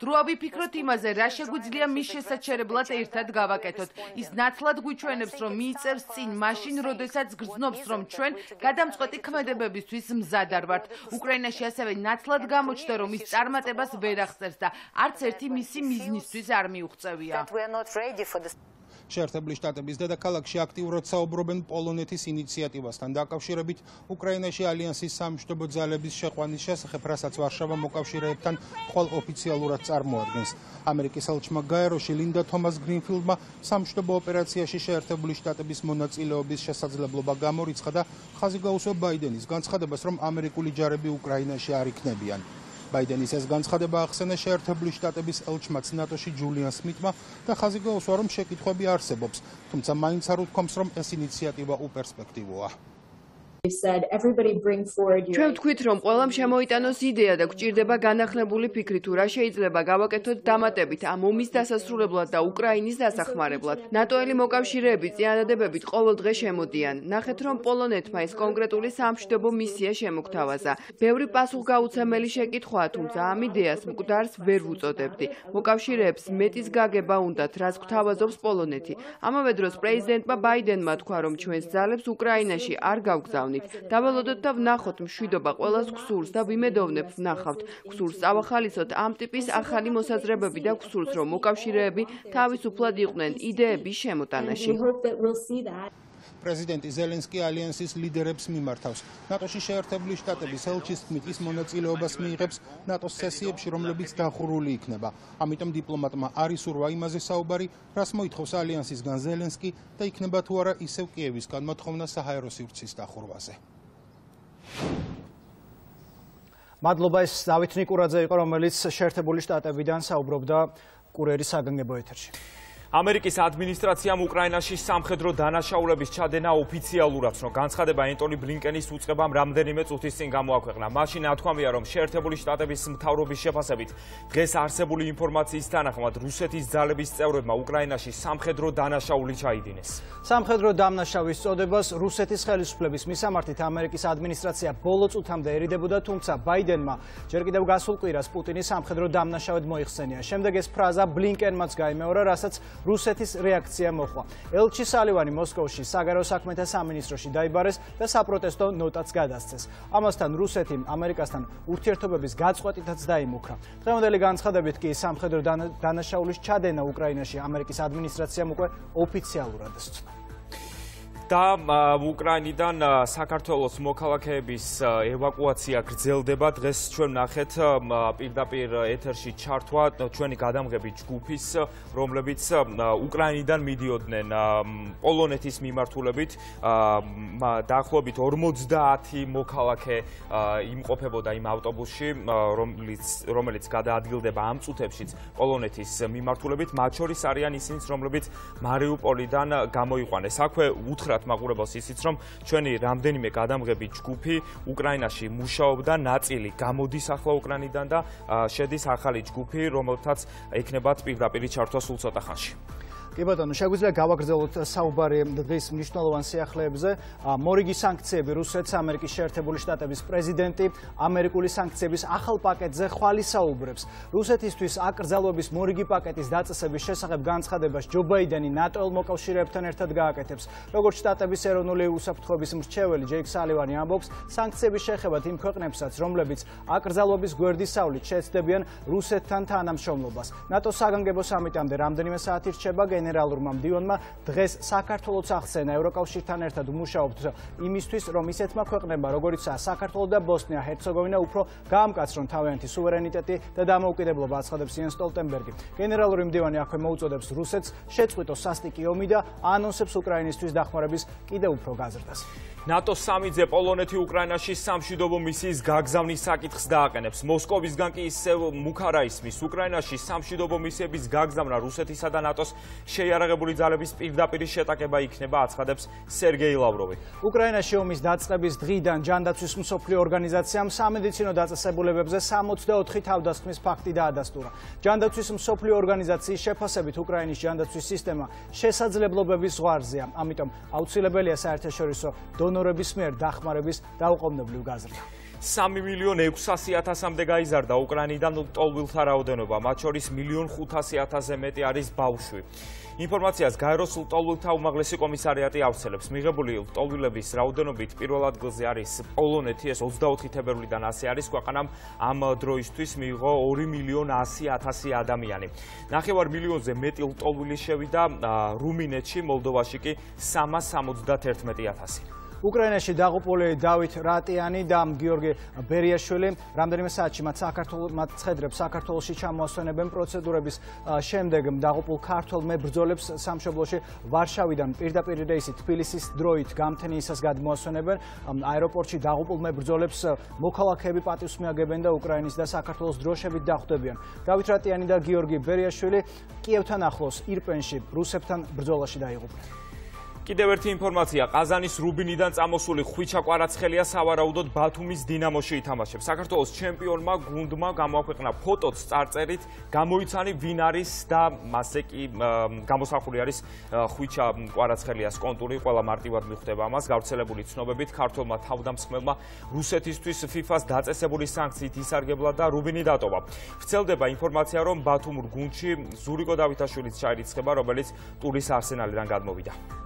დროა ვიფიქროთ იმაზე, რა შეგვიძლია მის შესაჩერებლად ერთად გავაკეთოთ. ის ნათლად გვიჩვენებს, რომ მიიწევს წინ მაშინ, როდესაც გრძნობს, რომ ჩვენ გადამწყვეტი ქმედებებისთვის მზად არ ვართ. უკრაინაში ასევე ნათლად გამოჩნდა, რომ ის წარმატებას ვერ აღწევს და არც ერთი მისი მიზნისთვის არ მიუღწევია. შეერთებული შტატების დედაქალაქში აქტიურად საუბრობენ პოლონეთის ინიციატივასთან დაკავშირებით უკრაინაში ალიანსის სამშვიდობო ძალების შეყვანის შესახებ, რასაც ვარშავა მოკავშირეებთან ხვალ ოფიციალურად წარმოადგენს. ამერიკის ელჩმა გაეროში ლინდა თომას გრინფილდმა სამშვიდობო ოპერაციაში შეერთებული შტატების მონაწილეობის შესაძლებლობა გამორიცხა და ხაზი გაუსვა ბაიდენის განცხადებას, რომ ამერიკული ჯარები უკრაინაში არ იქნებიან. ბაიდენის ეს განცხადება ახსენა შეერთებული შტატების ელჩმაც ნატოში ჯულიან სმიტმა და ხაზი გაუსვა, რომ შეკითხვები არსებობს, თუმცა მაინც არ უთქვამს, რომ ეს ინიციატივა უპერსპექტივოა. ჩვენ ვთქვით, რომ ყველამ შემოიტანოს იდეა და გვჭირდება განახლებული ფიქრი, თუ რა შეიძლება გავაკეთოთ დამატებით ამ ომის დასასრულებლად და უკრაინის დასახმარებლად. ნატოელი მოკავშირეები წინადადებებით ყოველ დღე შემოდიან. ნახეთ, რომ პოლონეთმა ეს კონკრეტული სამშვიდობო მისია შემოგთავაზა. ბევრი პასუხგაუცემელი შეკითხვაა, თუმცა ამ იდეას მკვდარს ვერ ვუწოდებდი. მოკავშირეებს მეტის გაგება უნდათ, რაც გვთავაზობს პოლონეთი. ამავე დროს პრეზიდენტმა ბაიდენმა თქვა, რომ ჩვენს ძალებს უკრაინაში არ გავგზავნით. დავალოდოთ და ვნახოთ მშვიდობა ყველას გსურს და ვიმედოვნებ ვნახავთ. გსურს წავახალისოთ ამ ტიპის ახალი მოსაზრებები და გსურს, რომ მოკავშირეები თავისუფლად იყვნენ იდეების შემოტანაში. პრეზიდენტი ზელენსკი ალიანსის ლიდერებს მიმართავს. ნატოში შეერთებული შტატების ელჩის თქმით, ის მონაწილეობას მიიღებს ნატოს სესიებში, რომლებიც დახურული იქნება. ამიტომ დიპლომატმა არ ისურვა იმაზე საუბარი, რას მოითხოვს ალიანსისგან ზელენსკი და იქნება თუ არა ისევ კიევისგან მოთხოვნა საჰაერო სივრცის დახურვაზე. მადლობა, ეს დავით ნიკურაძე იყო, რომელიც შეერთებული შტატებიდან საუბრობდა კურიერის საგანგებო ეთერში. ამერიკის ადმინისტრაციამ უკრაინაში სამხედრო დანაშაულების ჩადენა ოფიციალურად ცნო. განცხადება ენტონი ბლინკენის უწყებამ რამდენიმე წუთის წინ გამოაქვეყნა. მაშინ ნათქვამია, რომ შეერთებული შტატების მთავრობის შეფასებით დღეს არსებული ინფორმაციის თანახმად რუსეთის ძალების წევრებმა უკრაინაში სამხედრო დანაშაული ჩაიდინეს. სამხედრო დამნაშავის წოდებას რუსეთის ხელისუფლების მისამართით ამერიკის ადმინისტრაცია ბოლო წუთამდე ერიდებოდა, თუმცა ბაიდენმა ჯერ კიდევ გასულ კვირას პუტინის სამხედრო დამნაშავედ მოიხსენია. შემდეგ ეს ფრაზა ბლინკენმაც გაიმეორა, რასაც რუსეთის რეაქცია მოხდა. ელჩი სალივანი მოსკოვში საგარეო საქმეთა სამინისტროში დაიბარეს და საპროტესტო ნოტაც გადასცეს. ამასთან რუსეთი ამერიკასთან ურთიერთობების გაწყვეტითაც დაიმუქრა. დღევანდელი განცხადებით კი სამხედრო დანაშაულის ჩადენა უკრაინაში ამერიკის ადმინისტრაციამ უკვე ოფიციალურად სცნო. და უკრაინიდან საქართველოს მოქალაქეების ევაკუაცია გრძელდება. დღეს ჩვენ ნახეთ პირდაპირ ეთერში ჩართვა ჩვენი გადამღები ჯგუფის, რომლებიც უკრაინიდან მიდიოდნენ პოლონეთის მიმართულებით. დაახლოებით ორმოცდაათი მოქალაქე იმყოფებოდა იმ ავტობუსში, რომელიც რომელიც გადაადგილდება ამ წუთებშიც პოლონეთის მიმართულებით. მათ შორის არიან ისინიც, რომლებიც მარიუპოლიდან გამოიყვანეს. აქვე უთხრათ მაყურებელს ისიც, რომ ჩვენი რამდენიმე გადამღები ჯგუფი უკრაინაში მუშაობდა, ნაწილი გამოდის ახლა უკრაინიდან და შედის ახალი ჯგუფი, რომელთაც ექნებათ პირდაპირი ჩართვა სულ ცოტა ხანში. კი ბატონო, შეგვიძლია გავაგრძელოთ საუბარი დღის მნიშვნელოვან სიახლეებზე. მორიგი სანქციები რუსეთს ამერიკის შეერთებული შტატების პრეზიდენტი ამერიკული სანქციების ახალ პაკეტზე ხვალისაუბრებს. რუსეთისთვის აკრძალვების მორიგი პაკეტის დაწესების შესახებ განცხადებას ჯო ბაიდენი ნატო მოკავშირეებთან ერთად გააკეთებს. როგორც შტატების ეროვნული უსაფრთხოების მრჩეველი ჯეიკ სალივანი ამბობს, სანქციების შეხებათ იმ ქვეყნებსაც, რომლებიც აკრძალვების გვერდისავლით შეეცდებიან რუსეთთან თანამშრომლობას. ნატოს საგანგებო სამიტამდე რამდენიმე საათი რჩება. გენერალურმა მდივანმა დღეს საქართველოს ახსენა ევროკავშირთან ერთად უმუშაობთ იმისთვის, რომ ისეთმა ქვეყნებმა, როგორიცაა საქართველო და ბოსნია-ჰერცეგოვინა, უფრო გაამკაცრონ თავიანთი სუვერენიტეტი და დამოუკიდებლობა, აცხადებს იენს სტოლტენბერგი. გენერალური მდივანი აქვე მოუწოდებს რუსეთს შეწყვიტოს სასტიკი ომი და ანონსებს უკრაინისთვის დახმარების კიდევ უფრო გაზრდას. ნატოს სამიძე პოლონეთი უკრაინაში სამშვიდობო მისიის გაგზავნის საკითხს დააყენებს. მოსკოვისგან კი ისევ მუქარა ისმის. უკრაინაში სამშვიდობო მისიების გაგზავნა რუსეთისა და ნატოს შეიარაღებული ძალების პირდაპირ შეტაკება იქნება, აცხადებს სერგეი ლავროვი. უკრაინაში ომის დაწყების დღიდან ჯანდაცვის მსოფლიო ორგანიზაციამ სამედიცინო დაწესებულებებზე სამოცდაოთხი თავდასხმის ფაქტი დაადასტურა. ჯანდაცვის მსოფლიო ორგანიზაციის შეფასებით უკრაინის ჯანდაცვის სისტემა შესაძლებლობების ზღვარზეა. ამიტომ აუცილებელია საერთაშორისო დონორების მიერ დახმარების დაუყოვნებლივ გაზრდა. სამი მილიონ ექვსასი ათასამდე გაიზარდა უკრაინიდან ლტოლვილთა რაოდენობა, მათ შორის მილიონ ხუთასი ათასზე მეტი არის ბავშვი. ინფორმაციას გაეროს ლტოლვილთა უმაღლესი კომისარიატი ავრცელებს. მიღებული ლტოლვილების რაოდენობით პირველ ადგილზე არის პოლონეთი, ეს ოცდაოთხი თებერვლიდან ასე არის. ქვეყანამ ამ დროისთვის მიიღო ორი მილიონ ასი ათასი ადამიანი. ნახევარ მილიონზე მეტი ლტოლვილი შევიდა რუმინეთში, მოლდოვაში კი სამას სამოცდაერთმეტი ათასი. უკრაინაში დაღუპული დავით რატიანი და გიორგი ბერიაშვილი რამდენიმე საათში მათ საქართველოს მათ ცხედრებს საქართველოში ჩამოასვენებენ. პროცედურების შემდეგ დაღუპულ ქართველ მებრძოლებს სამშობლოში ვარშავიდან პირდაპირ რეისით თბილისის დროით გამთენიისას გადმოასვენებენ. აეროპორტში დაღუპულ მებრძოლებს მოქალაქეები პატივს მიაგებენ და უკრაინის და საქართველოს დროშებით დახვდებიან. დავით რატიანი და გიორგი ბერიაშვილი კიევთან ახლოს ირპენში რუსებთან ბრძოლაში დაიღუპნენ. კიდევ ერთი ინფორმაცია, ყაზანის რუბინიდან წამოსული ხვიჩა კვარაცხელია სავარაუდოდ ბათუმის დინამოში ითამაშებს. საქართველოს ჩემპიონმა გუნდმა გამოაქვეყნა ფოტოც წარწერით, გამოიცანი ვინ არის და მასზე კი გამოსახული არის ხვიჩა კვარაცხელიას კონტური, ყველა მარტივად მიხვდება ამას. გავრცელებული ცნობებით ქართველმა თავდამსხმელმა რუსეთისთვის ფიფას დაწესებული სანქციით ისარგებლა და რუბინი დატოვა. ვრცელდება ინფორმაცია, რომ ბათუმურ გუნდში ზურიკო დავითაშვილიც ჩაირიცხება, რომელიც ტურის არსენალიდან გადმოვიდა.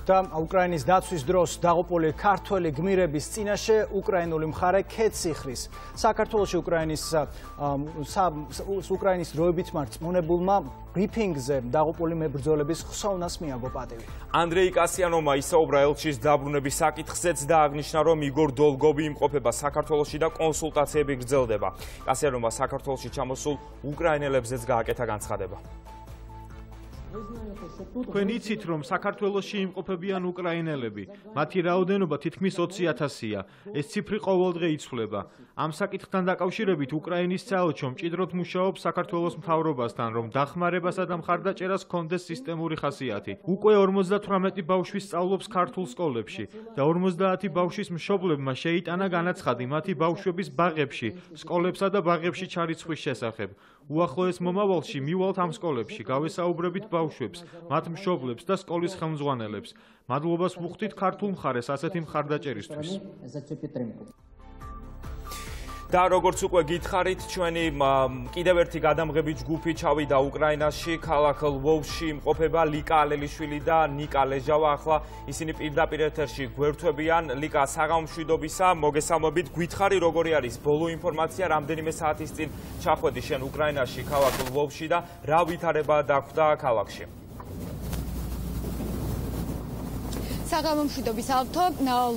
და უკრაინის დაცვის დროს დაღუპული ქართველი გმირების წინაშე უკრაინული მხარე ქედს იხრის. საქართველოში უკრაინის უკრაინის დროებით მარწმუნებულმა ბრიფინგზე დაღუპული მებრძოლების ხსოვნას მიაგო პატივი. ანდრეი კასიანოვმა ისაუბრა ელჩის დაბრუნების საკითხზეც და აღნიშნა, რომ იგორ დოლგოვი იმყოფება საქართველოში და კონსულტაციები გრძელდება. კასიანოვმა საქართველოში ჩამოსულ უკრაინელებზეც გააკეთა განცხადება. თქვენ იცით, რომ საქართველოში იმყოფებიან უკრაინელები. მათი რაოდენობა თითქმის ოცი ათასია. ეს ციფრი ყოველდღე იცვლება. ამ საკითხთან დაკავშირებით უკრაინის საელჩო მჭიდროდ მუშაობს საქართველოს მთავრობასთან, რომ დახმარებასა და მხარდაჭერას ჰქონდეს სისტემური ხასიათი. უკვე ორმოცდათვრამეტი ბავშვი სწავლობს ქართულ სკოლებში და ორმოცდაათი ბავშვის მშობლებმა შეიტანა განაცხადი მათი ბავშვების ბაღებში, სკოლებსა და ბაღებში ჩარიცხვის შესახებ. უახლოეს მომავალში მივალთ ამ სკოლებში, გავესაუბრებით ბავშვებს, მათ მშობლებს და სკოლის ხელმძღვანელებს. მადლობას ვუხდით ქართულ მხარეს ასეთი მხარდაჭერისთვის. და როგორც უკვე გითხარით, ჩვენი კიდევ ერთი გადამღები ჯგუფი ჩავიდა უკრაინაში, ქალაქ ლვოვში იმყოფება ლიკა ალელიშვილი და ნიკა ლეჟავა. ახლა ისინი პირდაპირ ეთერში გვერდთვებიან. ლიკა, საღამომშვიდობისა, მოგესალმებით. გითხარი, როგორი არის ბოლო ინფორმაცია, რამდენიმე საათის წინ ჩახვედი შენ უკრაინაში, ქალაქ ლვოვში და რა ვითარება დაგვდა ქალაქში? საღამო მშვიდობის ავთო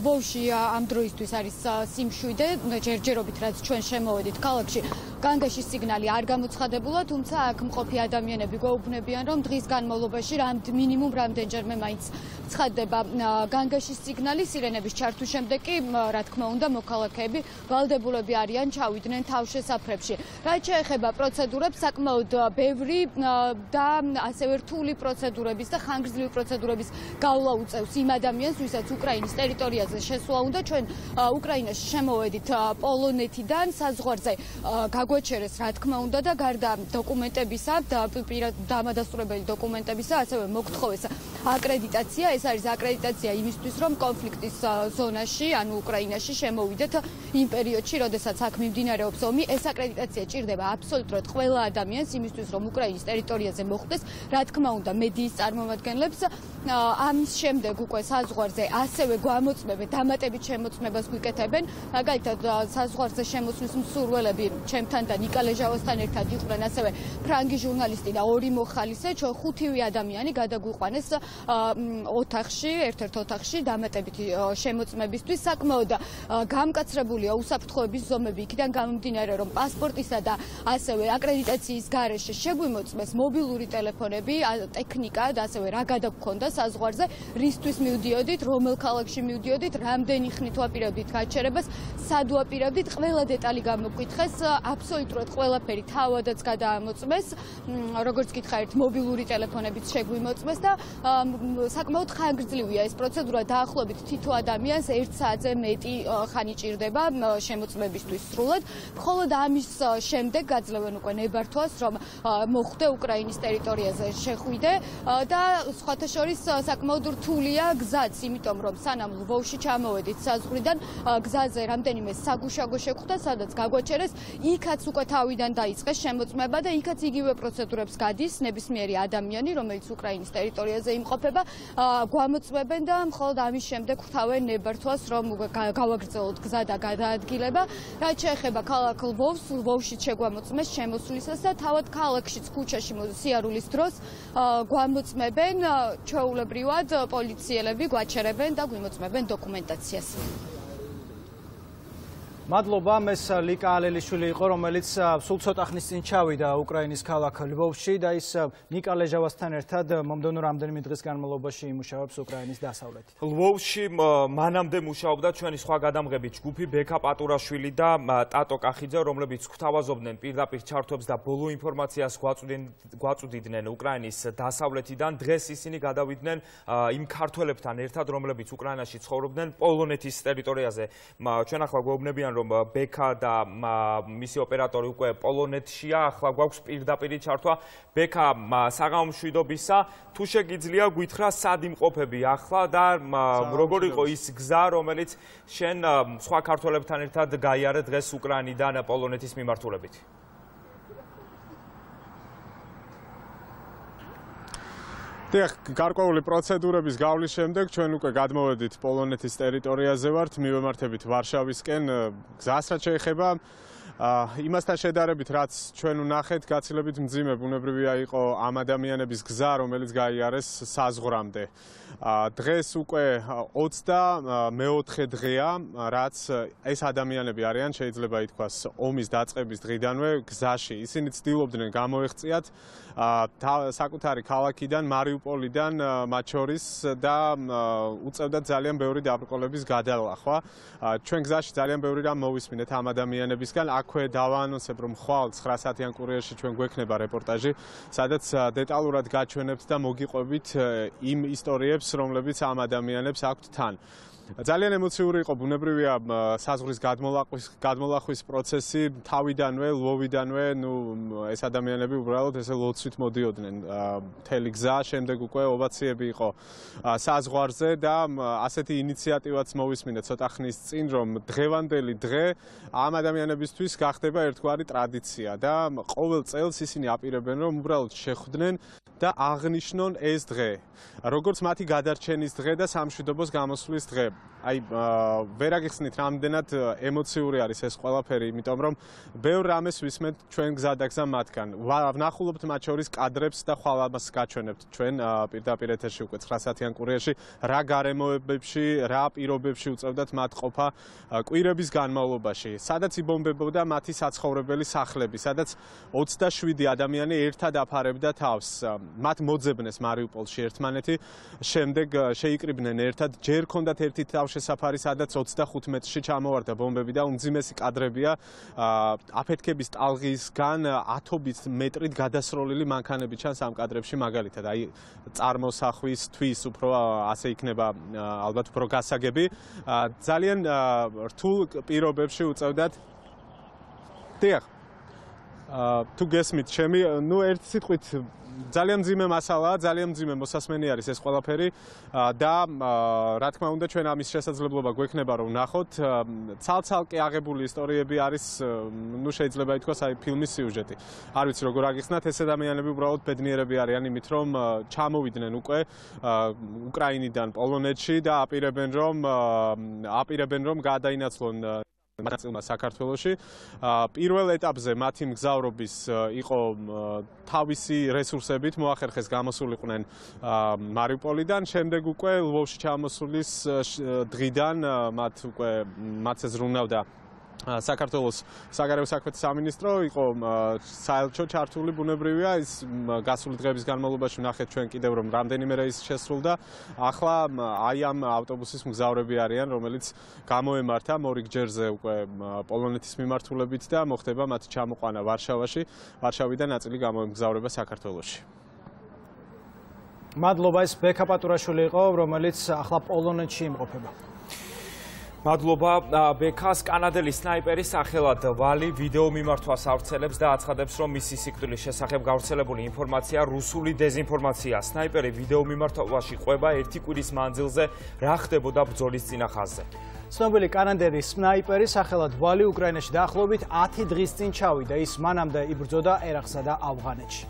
ლვოვში ამ დროისთვის არის სიმშვიდე ჯერჯერობით რაც ჩვენ შემოვედით ქალაქში განგაშის სიგნალი არ გამოცხადებულა თუმცა აქ მყოფი ადამიანები გვეუბნებიან რომ დღის განმავლობაში რამდ მინიმუმ რამდენჯერმე მაინც ცხადდება განგაშის სიგნალი სირენების ჩართვის შემდეგ კი რა თქმა უნდა მოქალაქეები ვალდებულები არიან ჩავიდნენ თავშესაფრებში რაც შეეხება პროცედურებს საკმაოდ ბევრი და ასევე რთული პროცედურების და ხანგრძლივი პროცედურების გავლა უწევს იმ ადამიანს ვისაც უკრაინის ტერიტორიაზე შესვლა უნდა ჩვენ უკრაინაში შემოვედით პოლონეთიდან საზღვარზე გაგვეჩერეს რა თქმა უნდა და გარდა დოკუმენტებისა და დამადასტურებელი დოკუმენტებისა ასევე მოგთხოვეს აკრედიტაცია ეს არის აკრედიტაცია იმისთვის რომ კონფლიქტის ზონაში ანუ უკრაინაში შემოვიდეთ იმ პერიოდში როდესაც აქ მიმდინარეობს ომი ეს აკრედიტაცია ჭირდება აბსოლუტურად ყველა ადამიანს იმისთვის რომ უკრაინის ტერიტორიაზე მოხვდეს რა თქმა უნდა მედიის წარმომადგენლებს ამის შემდეგ უკვე საზღვარზე ასევე გვამოწმებენ დამატებით შემოწმებას გვიკეთებენ მაგალითად საზღვარზე შემოსვლის მსურველები ჩემთან და ნიკა ლეჟავასთან ერთად იყვნენ ასევე ფრანგი ჟურნალისტი და ორი მოხალისე ჩვენ ხუთივე ადამიანი გადაგვიყვანეს ოთახში ერთ-ერთ ოთახში დამატებითი შემოწმებისთვის საკმაოდ გამკაცრებულია უსაფრთხოების ზომები იქიდან გამომდინარე რომ პასპორტისა და ასევე აკრედიტაციის გარეშე შეგვიმოწმეს მობილური ტელეფონები ტექნიკა და ასევე რა გადაგქონდა საზღვარზე რისთვის მივდიოდით რომელ ქალაქში მივდიოდით რამდენი ხნით ვაპირებდით გაჩერებას სად ვაპირებდით ყველა დეტალი გამოგვკითხეს აბსოლუტურად ყველაფერი თავადაც გადაამოწმეს როგორც გითხარით მობილური ტელეფონებიც შეგვიმოწმეს და საკმაოდ ხანგრძლივია ეს პროცედურა დაახლოებით თითო ადამიანს ერთ საათზე მეტი ხანი ჭირდება შემოწმებისთვის სრულად მხოლოდ ამის შემდეგ გაძლევენ უკვე ნებართვას რომ მოხვდე უკრაინის ტერიტორიაზე შეხვიდე და სხვათა შორის საკმაოდ რთულია გზაც იმიტომ რომ სანამ ლვოვში ჩამოვედით საზღვრიდან გზაზე რამდენიმე საგუშაგო შეხვდა სადაც გაგვაჩერეს იქაც უკვე თავიდან დაიწყეს შემოწმება და იქაც იგივე პროცედურებს გადის ნებისმიერი ადამიანი რომელიც უკრაინის ტერიტორიაზე იმყოფება გვამოწმებენ და მხოლოდ ამის შემდეგ ხვთავენ ნებართვას რომ გავაგრძელოთ გზა და გადაადგილება რაც შეეხება ქალაქ ლვოვს ლვოვში შეგვამოწმეს შემოსვლისას და თავად ქალაქშიც ქუჩაში სიარულის დროს გვამოწმებენ ჩვეულებრივად პოლიციელები გვაჩერებენ და გვიმოწმებენ დოკუმენტაციას მადლობა მეს ლიკა ალელიშვილი იყო რომელიც სულ ცოტა ხნის წინ ჩავიდა უკრაინის ქალაქ ლვოვში და ის ნიკა ლეჟავასთან ერთად მომდევნო რამდენიმე დღის განმავლობაში იმუშავებს უკრაინის დასავლეთით. ლვოვში მანამდე მუშაობდა ჩვენი სხვა გადამღები ჯგუფი ბექა პატურაშვილი და ტატო კახიძე რომლებიც გვთავაზობდნენ პირდაპირ ჩართვებს და ბოლო ინფორმაციას გვაწვდიდნენ უკრაინის დასავლეთიდან დღეს ისინი გადავიდნენ იმ ქართველებთან ერთად რომლებიც უკრაინაში ცხოვრობდნენ პოლონეთის ტერიტორიაზე ჩვენ ახლა გვეუბნებიან რომ ბექა და მისი ოპერატორი უკვე პოლონეთშია, ახლა გვაქვს პირდაპირი ჩართვა ბექა საღამო მშვიდობისა, თუ შეგიძლია გითხრა სად იმყოფები ახლა და როგორ იყო ის გზა, რომელიც შენ სხვა ქართველებთან ერთად გაიარე დღეს უკრაინიდან პოლონეთის მიმართულებით? დიახ, გარკვეული პროცედურების გავლის შემდეგ ჩვენ უკვე გადმოვედით პოლონეთის ტერიტორიაზე ვართ, მივემართებით ვარშავისკენ, გზას რაც შეეხება იმასთან შედარებით, რაც ჩვენ ვნახეთ, გაცილებით მძიმე ბუნებრივია იყო ამ ადამიანების გზა, რომელიც გაიარეს საზღვრამდე. დღეს უკვე ოცდამეოთხე დღეა, რაც ეს ადამიანები არიან, შეიძლება ითქვას, ომის დაწყების დღიდანვე გზაში. ისინი ცდილობდნენ გამოეღწიათ საკუთარი ქალაქიდან, მარიუპოლიდან მათ შორის და უწევდათ ძალიან ბევრი დაბრკოლების გადალახვა. ჩვენ გზაში ძალიან ბევრი რამ მოვისმინეთ ამ ადამიანებისგან. აქვე დავაანონსებ, რომ ხვალ ცხრა საათიან კურიერში ჩვენ გვექნება რეპორტაჟი, სადაც დეტალურად გაჩვენებთ და მოგიყვებით იმ ისტორიებს, რომლებიც ამ ადამიანებს აქვთ თან. ძალიან ემოციური იყო ბუნებრივია საზღვრის გადმოლახვის გადმოლახვის პროცესი თავიდანვე, ლვოვიდანვე, ნუ ეს ადამიანები უბრალოდ ესე ლოცვით მოდიოდნენ მთელი გზა, შემდეგ უკვე ოვაციები იყო საზღვარზე და ასეთი ინიციატივაც მოვისმინეთ ცოტა ხნის წინ, რომ დღევანდელი დღე ამ ადამიანებისთვის გახდება ერთგვარი ტრადიცია და ყოველ წელს ისინი აპირებენ, რომ უბრალოდ შეხვდნენ და აღნიშნონ ეს დღე, როგორც მათი გადარჩენის დღე და სამშვიდობოს გამოსვლის დღე. აი ვერ აგიხსნით რამდენად ემოციური არის ეს ყველაფერი, იმიტომ რომ ბევრ რამეს ვისმენთ ჩვენ გზადაგზა მათგან. ვნახულობთ მათ შორის კადრებს და ხვალ ამას გაჩვენებთ ჩვენ პირდაპირ ეთერში უკვე ცხრა საათიან კურიერში, რა გარემოებებში, რა პირობებში უწევდათ მათ ყოფა კვირების განმავლობაში, სადაც იბომბებოდა მათი საცხოვრებელი სახლები, სადაც ოცდაშვიდი ადამიანი ერთად აფარებდა თავს. მათ მოძებნეს მარიუპოლში ერთმანეთი, შემდეგ შეიკრიბნენ ერთად, ჯერ ჰქონდათ ერთი თავშესაფარი, სადაც ოცდახუთ მეტრში ჩამოვარდა ბომბები და უმძიმესი კადრებია აფეთქების ტალღისგან ათობით მეტრით გადასროლილი მანქანები ჩანს ამ კადრებში მაგალითად. აი წარმოსახვისთვის უფრო ასე იქნება ალბათ უფრო გასაგები. ძალიან რთულ პირობებში უწევდათ. დიახ. თუ გესმით ჩემი, ნუ ერთ სიტყვით ძალიან მძიმე მასალაა, ძალიან მძიმე მოსასმენი არის ეს ყველაფერი და რა თქმა უნდა ჩვენ ამის შესაძლებლობა გვექნება რომ ვნახოთ. ცალ-ცალკე აღებული ისტორიები არის, ნუ შეიძლება ითქვას, აი ფილმის სიუჟეტი. არ ვიცი როგორ აგიხსნათ, ეს ადამიანები უბრალოდ ბედნიერები არიან იმით რომ ჩამოვიდნენ უკვე უკრაინიდან პოლონეთში და აპირებენ რომ აპირებენ რომ გადაინაცვლონ მაწილმა საქართველოში. პირველ ეტაპზე მათი მგზავრობის იყო თავისი რესურსებით მოახერხეს გამოსულიყვნენ მარიუპოლიდან, შემდეგ უკვე ლვოვში ჩამოსulis დღიდან მათ უკვე მათს ზრუნავდა საქართველოს საგარეო საქმეთა სამინისტრო, იყო საელჩო ჩართული ბუნებრივია, ის გასული დღეების განმავლობაში ვნახეთ ჩვენ კიდევ რომ რამდენიმე რეისი შესრულდა. ახლა აი ამ ავტობუსის მგზავრები არიან, რომელიც გამოემართა მორიგჯერზე უკვე პოლონეთის მიმართულებით და მოხდება მათი ჩამოყვანა ვარშავაში, ვარშავიდან ნაწილი გამოემგზავრება საქართველოში. მადლობა, ეს ბექა პატურაშვილი იყო, რომელიც ახლა პოლონეთში იმყოფება. მადლობა ბექას. კანადელი სნაიპერის სახელად ვალი ვიდეო მიმართვას ავრცელებს და აცხადებს, რომ მისი სიკვდილის შესახებ გავრცელებული ინფორმაცია რუსული დეზინფორმაციაა. სნაიპერი ვიდეო მიმართვაში ყვება ერთი კვირის მანძილზე რა ხდებოდა ბრძოლის წინა ხაზზე. ცნობილი კანადელი სნაიპერი სახელად ვალი უკრაინაში დაახლოებით ათი დღის წინ ჩავიდა. ის მანამდე იბრძოდა ერაყსა და ავღანეთში.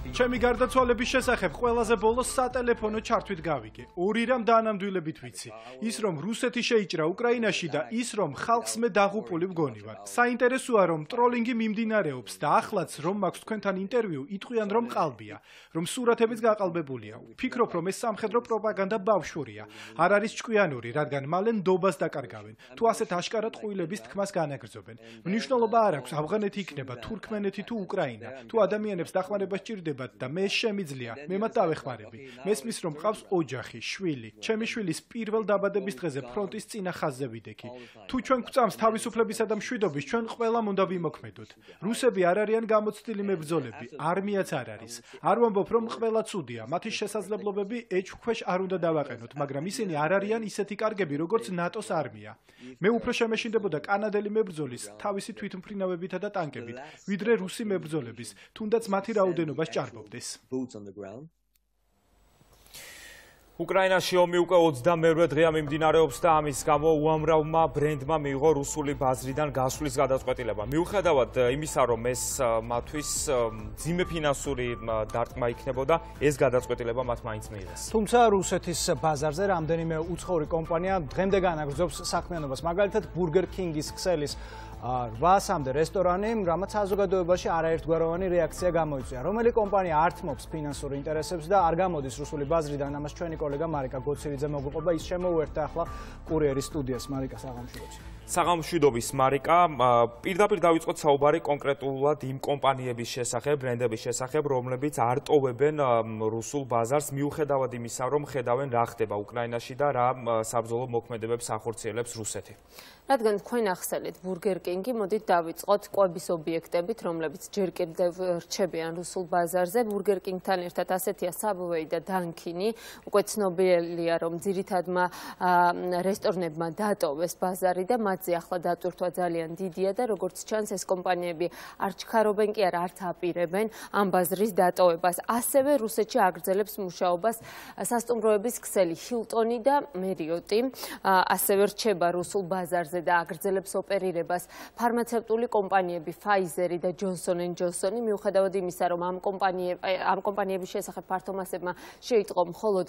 ჩემი გარდაცვალების შესახებ ყველაზე ბოლოს სატელეფონო ჩართვით გავიგე. ორი რამ დაანამდვილებით ვიცი. ის რომ რუსეთი შეიჭრა უკრაინაში და ის რომ ხალხს მე დაღუპული მგონი ვარ. საინტერესოა რომ ტროლინგი მიმდინარეობს და ახლაც რომ მაქვს თქვენთან ინტერვიუ, იტყვიან რომ ყალბია, რომ სურათებიც გაყალბებულია. ვფიქრობ რომ ეს სამხედრო პროპაგანდა ბავშვურია. არ არის ჭკვიანური, რადგან მალე ნდობას დაკარგავენ. თუ ასეთ აშკარად ყვილების თქმას განაგრძობენ. მნიშვნელობა არ აქვს ავღანეთი იქნება თურქმენეთი თუ უკრაინა. თუ ადამიანებს დახმარება სჭირდება და მე შემიძლია, მე მათ დავეხმარები. მესმის რომ ყავს ოჯახი, შვილი. ჩემი შვილის პირველ დაბადების დღეზე ფრონტის წინა ხაზზე ვიდექი. თუ ჩვენ გვწამს თავისუფლებისა და მშვიდობის, ჩვენ ყველამ უნდა ვიმოქმედოთ. რუსები არ არიან გამოცდილი მებრძოლები, არმიაც არ არის. არ ვამბობ რომ ყველა ცუდია, მათი შესაძლებლობები ეჭვქვეშ არ უნდა დავაყენოთ, მაგრამ ისინი არ არიან ისეთი კარგები, როგორც ნატოს არმია. მე უფრო შემეშინდებოდა კანადელი მებრძოლის თავისი თვითმფრინავებითა და ტანკებით, ვიდრე რუსი მებრძოლების, თუნდაც მათი რაოდენობას ჭარბობს. უკრაინაში ომი უკვე ოცდამეერთე დღეა მიმდინარეობს და ამის გამო უამრავმა ბრენდმა მიიღო რუსული ბაზრიდან გასვლის გადაწყვეტილება. მიუხედავად იმისა, რომ ეს მათთვის მძიმე ფინანსური დარტყმა იქნებოდა, ეს გადაწყვეტილება მათ მაინც მიიღეს. თუმცა რუსეთის ბაზარზე რამდენიმე უცხოური კომპანია დღემდე განაგრძობს საქმიანობას, მაგალითად Burger King-ის ქსელის რვასამდე რესტორანი, რამაც საზოგადოებაში არაერთგვაროვანი რეაქცია გამოიწვია. რომელი კომპანია ართმობს ფინანსურ ინტერესებს და არ გამოდის რუსული ბაზრიდან, ამას ჩვენი კოლეგა მარიკა გოცირიძე მოგვიყვება, ის შემოუერთდა ახლა კურიერის სტუდიას. მარიკა, საღამოშიდობთ. საღამოშიდობის მარიკა, პირდაპირ დავიწყოთ საუბარი კონკრეტულად იმ კომპანიების შესახებ, ბრენდების შესახებ, რომლებიც არ ტოვებენ რუსულ ბაზარს, მიუხედავად იმისა, რომ ხედავენ რა ხდება უკრაინაში და რა საბრძოლო მოქმედებებს ახორციელებს რუსეთი. რადგან თქვენ ახსენეთ Burger King-ი, მოდით დავიწყოთ კვების ობიექტებით, რომლებიც ჯერ კიდევ რჩებიან რუსულ ბაზარზე. Burger King-თან ერთად ასეთია Subway და Dunkin-ი. უკვე ცნობილია, რომ ძირითადმა რესტორნებმა დატოვეს ბაზარი და მათზე ახლა დატვირთვა ძალიან დიდია და როგორც ჩანს, ეს კომპანიები არ ჩქარობენ კი არა, არც აპირებენ ამ ბაზრის დატოვებას. ასევე რუსეთში აგრძელებს მუშაობას სასტუმროების ქსელი Hilton-ი და Marriott-ი. ასევე რჩება რუსულ ბაზარზე ბაზარზე და აგრძელებს ოპერირებას ფარმაცევტული კომპანიები Pfizer და Johnson and Johnson, მიუხედავად იმისა, რომ ამ ამ კომპანიების შესახებ ფართომასებმა შეიტყო მხოლოდ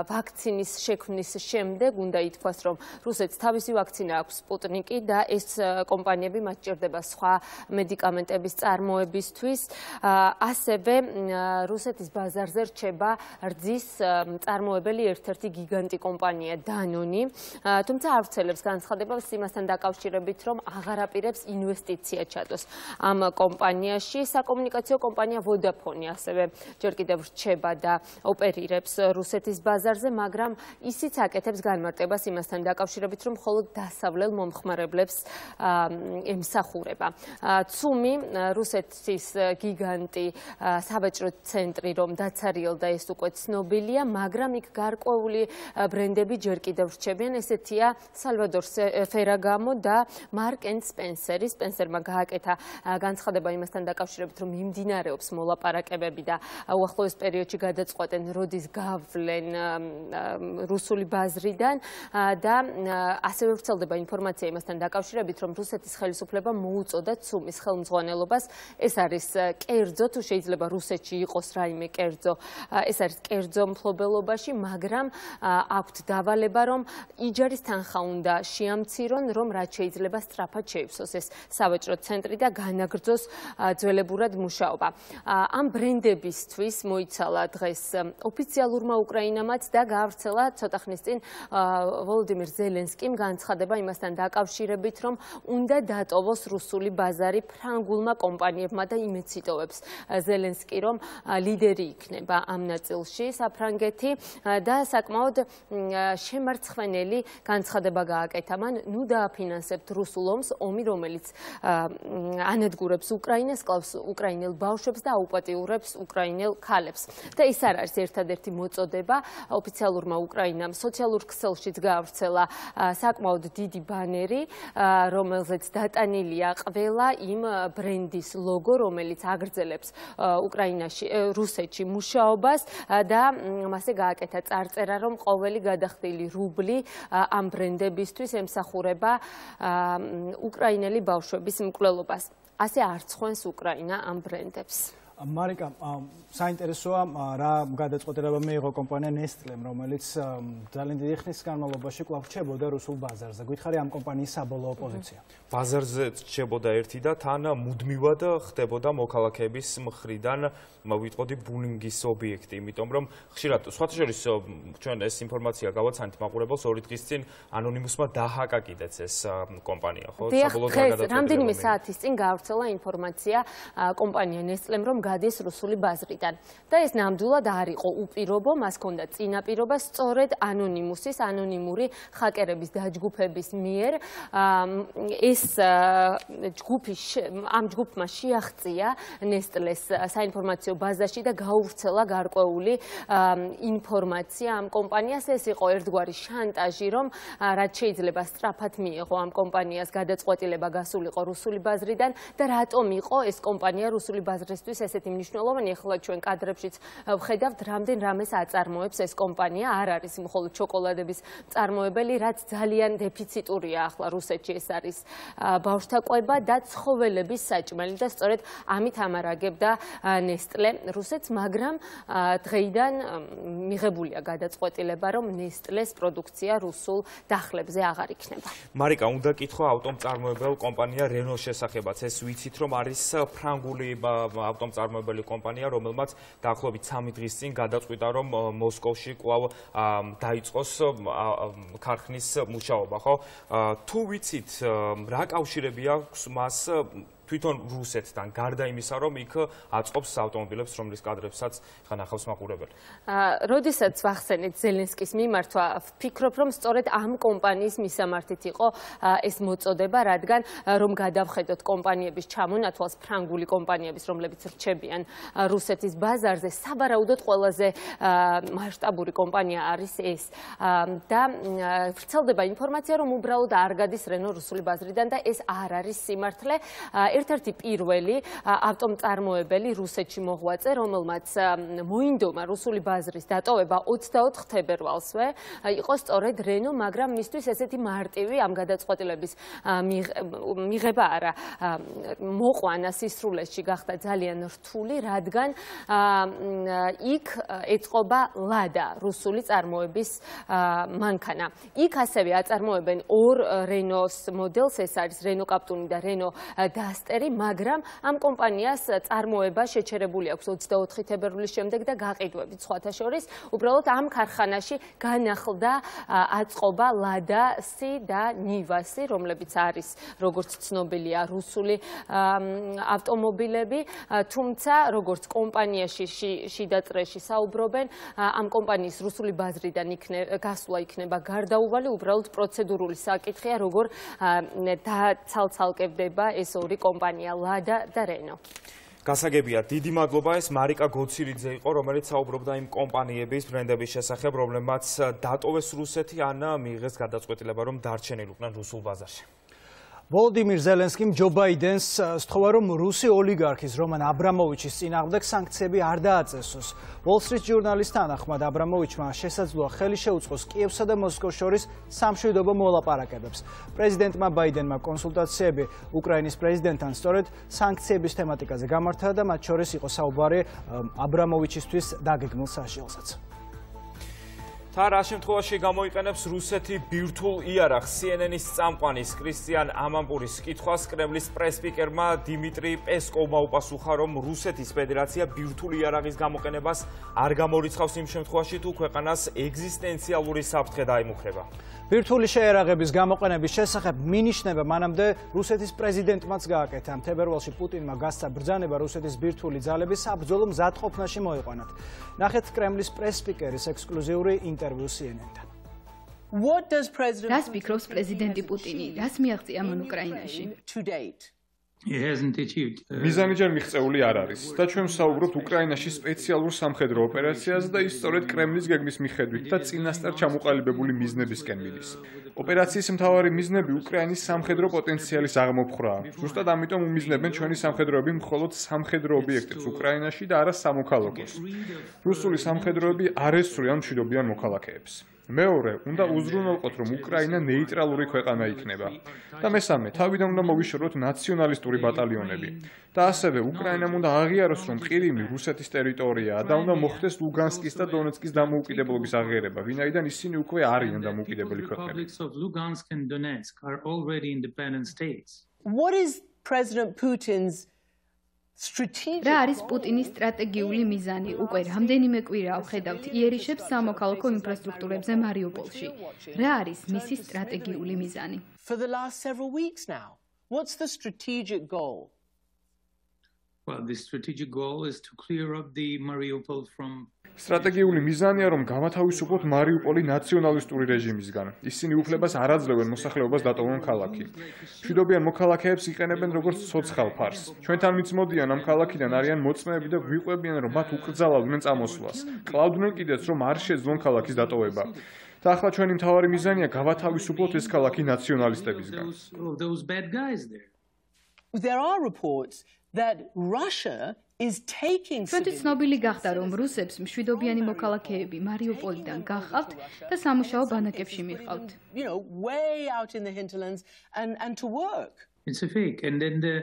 ვაქცინის შექმნის შემდეგ, უნდა ითქვას, რომ რუსეთს თავისი ვაქცინა აქვს სპუტნიკი და ეს კომპანიები მათ ჭირდება სხვა მედიკამენტების წარმოებისთვის. ასევე რუსეთის ბაზარზე რჩება რძის წარმოებელი ერთ-ერთი გიგანტი კომპანია Danone, თუმცა არ ვრცელებს განცხადებას იმასთან დაკავშირებით, რომ აღარ აპირებს ინვესტიცია ჩადოს ამ კომპანიაში. საკომუნიკაციო კომპანია Vodafone ასევე ჯერ კიდევ რჩება და ოპერირებს რუსეთის ბაზარზე, მაგრამ ისიც აკეთებს განმარტებას იმასთან დაკავშირებით, რომ მხოლოდ დასავლელ მომხმარებლებს ემსახურება. ცუმი, რუსეთის გიგანტი სავაჭრო ცენტრი, რომ დაცარიელდა, ეს უკვე ცნობილია, მაგრამ იქ გარკვეული ბრენდები ჯერ კიდევ რჩებიან, ესეთია Salvador Ferragamo და Mark and Spencer. Spencer-მა გააკეთა განცხადება იმასთან დაკავშირებით, რომ მიმდინარეობს მოლაპარაკებები და უახლოეს პერიოდში გადაწყვეტენ, როდის გავლენ რუსული ბაზრიდან და ასევე ვრცელდება ინფორმაცია იმასთან დაკავშირებით, რომ რუსეთის ხელისუფლებამ მოუწოდა ცუმის ხელმძღვანელობას. ეს არის კერძო, თუ შეიძლება რუსეთში იყოს რაიმე კერძო, ეს არის კერძო მფლობელობაში, მაგრამ აქვთ დავალება, რომ იჯარის თანხა უნდა შეამცირონ, რომ რაც შეიძლება სწრაფად შეივსოს ეს სავაჭრო ცენტრი და განაგრძოს ძველებურად მუშაობა. ამ ბრენდებისთვის მოიცალა დღეს ოფიციალურმა უკრაინამაც და გაავრცელა ცოტა ხნის წინ ვოლოდიმირ ზელენსკიმ განცხადება იმასთან დაკავშირებით, რომ უნდა დატოვოს რუსული ბაზარი ფრანგულმა კომპანიებმა და იმეც იტოვებს ზელენსკი, რომ ლიდერი იქნება ამ ნაწილში საფრანგეთი და საკმაოდ შემარცხვენელი განცხადება გააკეთა მან, ნუ დააფინანსებთ რუსულ ომს, ომი, რომელიც ანადგურებს უკრაინას, კლავს უკრაინელ ბავშვებს და აუპატიურებს უკრაინელ ქალებს. და ის არ არის ერთადერთი მოწოდება, ოფიციალურმა უკრაინამ სოციალურ ქსელშიც გაავრცელა საკმაოდ დიდი ბანერი, რომელზეც დატანილია ყველა იმ ბრენდის ლოგო, რომელიც აგრძელებს უკრაინაში, რუსეთში მუშაობას და მასე გააკეთა წარწერა, რომ ყოველი გადახდილი რუბლი ამ ბრენდებისთვის ემსახურება უკრაინელი ბავშვების მკვლელობას. ასე არ ცხვენს უკრაინა ამ ბრენდებს. მარიკა, საინტერესოა რა გადაწყვეტილება მიიღო კომპანია Nestlé-მ, რომელიც ძალიან დიდი ხნის განმავლობაში კვლავ რჩებოდა რუსულ ბაზარზე. გითხარი ამ კომპანიის საბოლოო პოზიცია? ბაზარზე რჩებოდა ერთი და თან მუდმივად ხდებოდა მოქალაქეების მხრიდან ვიტყოდი ბულინგის ობიექტი, იმიტომ რომ ხშირად სხვათა შორის ჩვენ ეს ინფორმაცია გავაცანით მაყურებელს ორი დღის წინ ანონიმუსმა დაჰაკა კიდეც ეს კომპანია, ხო? საბოლოოდ გადაწყვეტილება. რამდენიმე საათის წინ გაავრცელა ინფორმაცია კომპანია Nestlé-მ, რომ გადის რუსული ბაზრიდან. და ეს ნამდვილად არ იყო უპირობო, მას ჰქონდა წინაპირობა სწორედ ანონიმუსის, ანონიმური ჰაკერების დაჯგუფების მიერ. ეს ჯგუფი ამ ჯგუფმა შეაღწია Nestlé-ს საინფორმაციო ბაზაში და გაუვრცელა გარკვეული ინფორმაცია ამ კომპანიას. ეს იყო ერთგვარი შანტაჟი, რომ რაც შეიძლება სწრაფად მიიღო ამ კომპანიას გადაწყვეტილება გასულიყო რუსული ბაზრიდან და რატომ იყო ეს კომპანია რუსული ბაზრისთვის ესეთი მნიშვნელოვანი. ახლა ჩვენ კადრებშიც ვხედავთ, რამდენ რამეს აწარმოებს ეს კომპანია. არ არის მხოლოდ შოკოლადების მწარმოებელი, რაც ძალიან დეფიციტურია ახლა რუსეთში. ეს არის ბავშვთა კვება და ცხოველების საჭმელი და სწორედ ამით ამარაგებდა Nestlé რუსეთს, მაგრამ დღეიდან მიღებულია გადაწყვეტილება, რომ Nestlé-ს პროდუქცია რუსულ დახლებზე აღარ იქნება. მარიკა, უნდა კითხო ავტომწარმოებელ კომპანია Renault შესახებაც. ეს ვიცით, რომ არის ფრანგული ავტომწარმოებელი კომპანია, რომელმაც დაახლოებით სამი დღის წინ გადაწყვიტა, რომ მოსკოვში კვლავ დაიწყოს ქარხნის მუშაობა, ხო? თუ ვიცით, რა კავშირები აქვს მას თვითონ რუსეთთან, გარდა იმისა, რომ იქ აწყობს ავტომობილებს, რომლის კადრებსაც ხან ახავს მაყურებელი. როდესაც ვახსენეთ ზელენსკის მიმართვა, ვფიქრობ, რომ სწორედ ამ კომპანიის მისამართით იყო ეს მოწოდება, რადგან რომ გადავხედოთ კომპანიების ჩამონათვალს, ფრანგული კომპანიების, რომლებიც რჩებიან რუსეთის ბაზარზე, საბარაუდოდ ყველაზე მასშტაბური კომპანია არის ეს. და ვრცელდება ინფორმაცია, რომ უბრალოდ არ გადის Renault რუსული ბაზრიდან და ეს არ არის სიმართლე. ერთ-ერთი პირველი ავტომწარმოებელი რუსეთში მოღვაწე, რომელმაც მოინდომა რუსული ბაზრის დატოვება ოცდაოთხ თებერვალსვე, იყო სწორედ რენო, მაგრამ მისთვის ესეთი მარტივი ამ გადაწყვეტილების მიღება არა მოყვანა სისრულეში გახდა ძალიან რთული, რადგან იქ ეწყობა ლადა რუსული წარმოების მანქანა. იქ ასევე აწარმოებენ ორ რენოს მოდელს, ეს არის რენო კაპტუნი და რენო დასტერი, მაგრამ ამ კომპანიას წარმოება შეჩერებული აქვს ოცდაოთხი თებერვლის შემდეგ და გაყიდვებით სხვათა შორის, უბრალოდ ამ ქარხანაში განახლდა აწყობა ლადასი და ნივასი, რომლებიც არის როგორც ცნობილია რუსული ავტომობილები, თუმცა როგორც კომპანიაში შიდა წრეში საუბრობენ, ამ კომპანიის რუსული ბაზრიდან გასვლა იქნება გარდაუვალი, უბრალოდ პროცედურული საკითხია, როგორ დაცალცალკებდება ეს ორი კომპანია, ლადა და რენო. გასაგებია, დიდი მადლობა, ეს მარიკა გოცირიძე იყო, რომელიც საუბრობდა იმ კომპანიების ბრენდების შესახებ, რომლებმაც დატოვეს რუსეთი ან მიიღეს გადაწყვეტილება, რომ დარჩენილიყვნენ რუსულ ბაზარში. ვოლოდიმირ ზელენსკიმ ჯო ბაიდენს სთხოვა, რომ რუსი ოლიგარქის რომან აბრამოვიჩის წინააღმდეგ სანქციები არ დააწესოს. Wall Street ჟურნალის თანახმად აბრამოვიჩმა შესაძლოა ხელი შეუწყოს კიევსა და მოსკოვს შორის სამშვიდობო მოლაპარაკებებს. პრეზიდენტმა ბაიდენმა კონსულტაციები უკრაინის პრეზიდენტთან სწორედ სანქციების თემატიკაზე გამართა და მათ შორის იყო საუბარი აბრამოვიჩისთვის დაგეგმილ საშიელსაც. თა რა შემთხვევაში გამოიყენებს რუსეთი ბირთვულ იარაღს? C N N-ის წამყვანის კრისტიან ამამპურის კითხვას კრემლის პრესსპიკერმა დიმიტრი პესკოვმა უპასუხა, რომ რუსეთის ფედერაცია ბირთვული იარაღის გამოყენებას არ გამორიცხავს იმ შემთხვევაში, თუ ქვეყანას ეგზისტენციალური საფრთხე დაიმუქრება. ბირთვული შეიარაღების გამოყენების შესახებ მინიშნება მანამდე რუსეთის პრეზიდენტმაც გააკეთა. თებერვალში პუტინმა გასცა ბრძანება რუსეთის ბირთვული ძალების საბრძოლო მზადყოფნაში მოიყვანათ. ნახეთ კრემლის პრესსპიკერის ექსკლუზიური ინტერვიუ C N N-თან. რას ფიქრობს პრეზიდენტი პუტინი? რას მიაღწია მან უკრაინაში? მიზანი ჯერ მიღწეული არ არის და ჩვენ ვსაუბრობთ უკრაინაში სპეციალურ სამხედრო ოპერაციაზე და ის სწორედ კრემლის გეგმის მიხედვით და წინასწარ ჩამოყალიბებული მიზნებისკენ მიდის. ოპერაციის მთავარი მიზნები უკრაინის სამხედრო პოტენციალის აღმოფხვრაა. ზუსტად ამიტომ უმიზნებენ ჩვენი სამხედროები მხოლოდ სამხედრო ობიექტებს უკრაინაში და არა სამოქალაქოს. რუსული სამხედროები არ ესწრიან მშვიდობიან მოქალაქეებს. მეორე, უნდა უზრუნველყოთ, რომ უკრაინა ნეიტრალური ქვეყანა იქნება. და მესამე, თავიდან უნდა მოვიშოროთ ნაციონალისტური ბატალიონები. და ასევე უკრაინამ უნდა აღიაროს, რომ ყირიმი რუსეთის ტერიტორიაა და უნდა მოხდეს ლუგანსკის და დონეცკის დამოუკიდებლობის აღიარება, ვინაიდან ისინი უკვე არიან დამოუკიდებელი ქვეყნები. What is President Putin's რა არის პუტინის სტრატეგიული მიზანი? უკვე რამდენიმე კვირაა ვხედავთ იერიშებს სამოქალაქო ინფრასტრუქტურებზე მარიუპოლში. რა არის მისი სტრატეგიული მიზანი? For the last several weeks now. What's the strategic goal? Well, the strategic goal is to clear up the Mariupol from სტრატეგიული მიზანია, რომ გამათავისუფლოთ მარიუპოლი ნაციონალისტური რეჟიმისგან. ისინი უფლებას არ აძლევენ მოსახლეობას დატოვონ ქალაქი. მშვიდობიან მოქალაქეებს იყენებენ როგორც ცოცხალ ფარს. ჩვენთან მიცმოდიან ამ ქალაქიდან არიან მოწმეები და გვიყვებიან, რომ მათ უკრძალავდნენ წამოსვლას. კლავდნენ კიდეც, რომ არ შეძლონ ქალაქის დატოვება. და ახლა ჩვენი მთავარი მიზანია გავათავისუფლოთ ეს ქალაქი ნაციონალისტებისგან. There are reports that Russia is taking ჩვენთვის ცნობილი გახდა, რომ რუსებს მშვიდობიანი მოქალაქეები მარიუპოლიდან გახავთ და სამუშაო ბანაკებში მიყავთ. You know, way out in the hinterlands and and to work. It's a fake and then the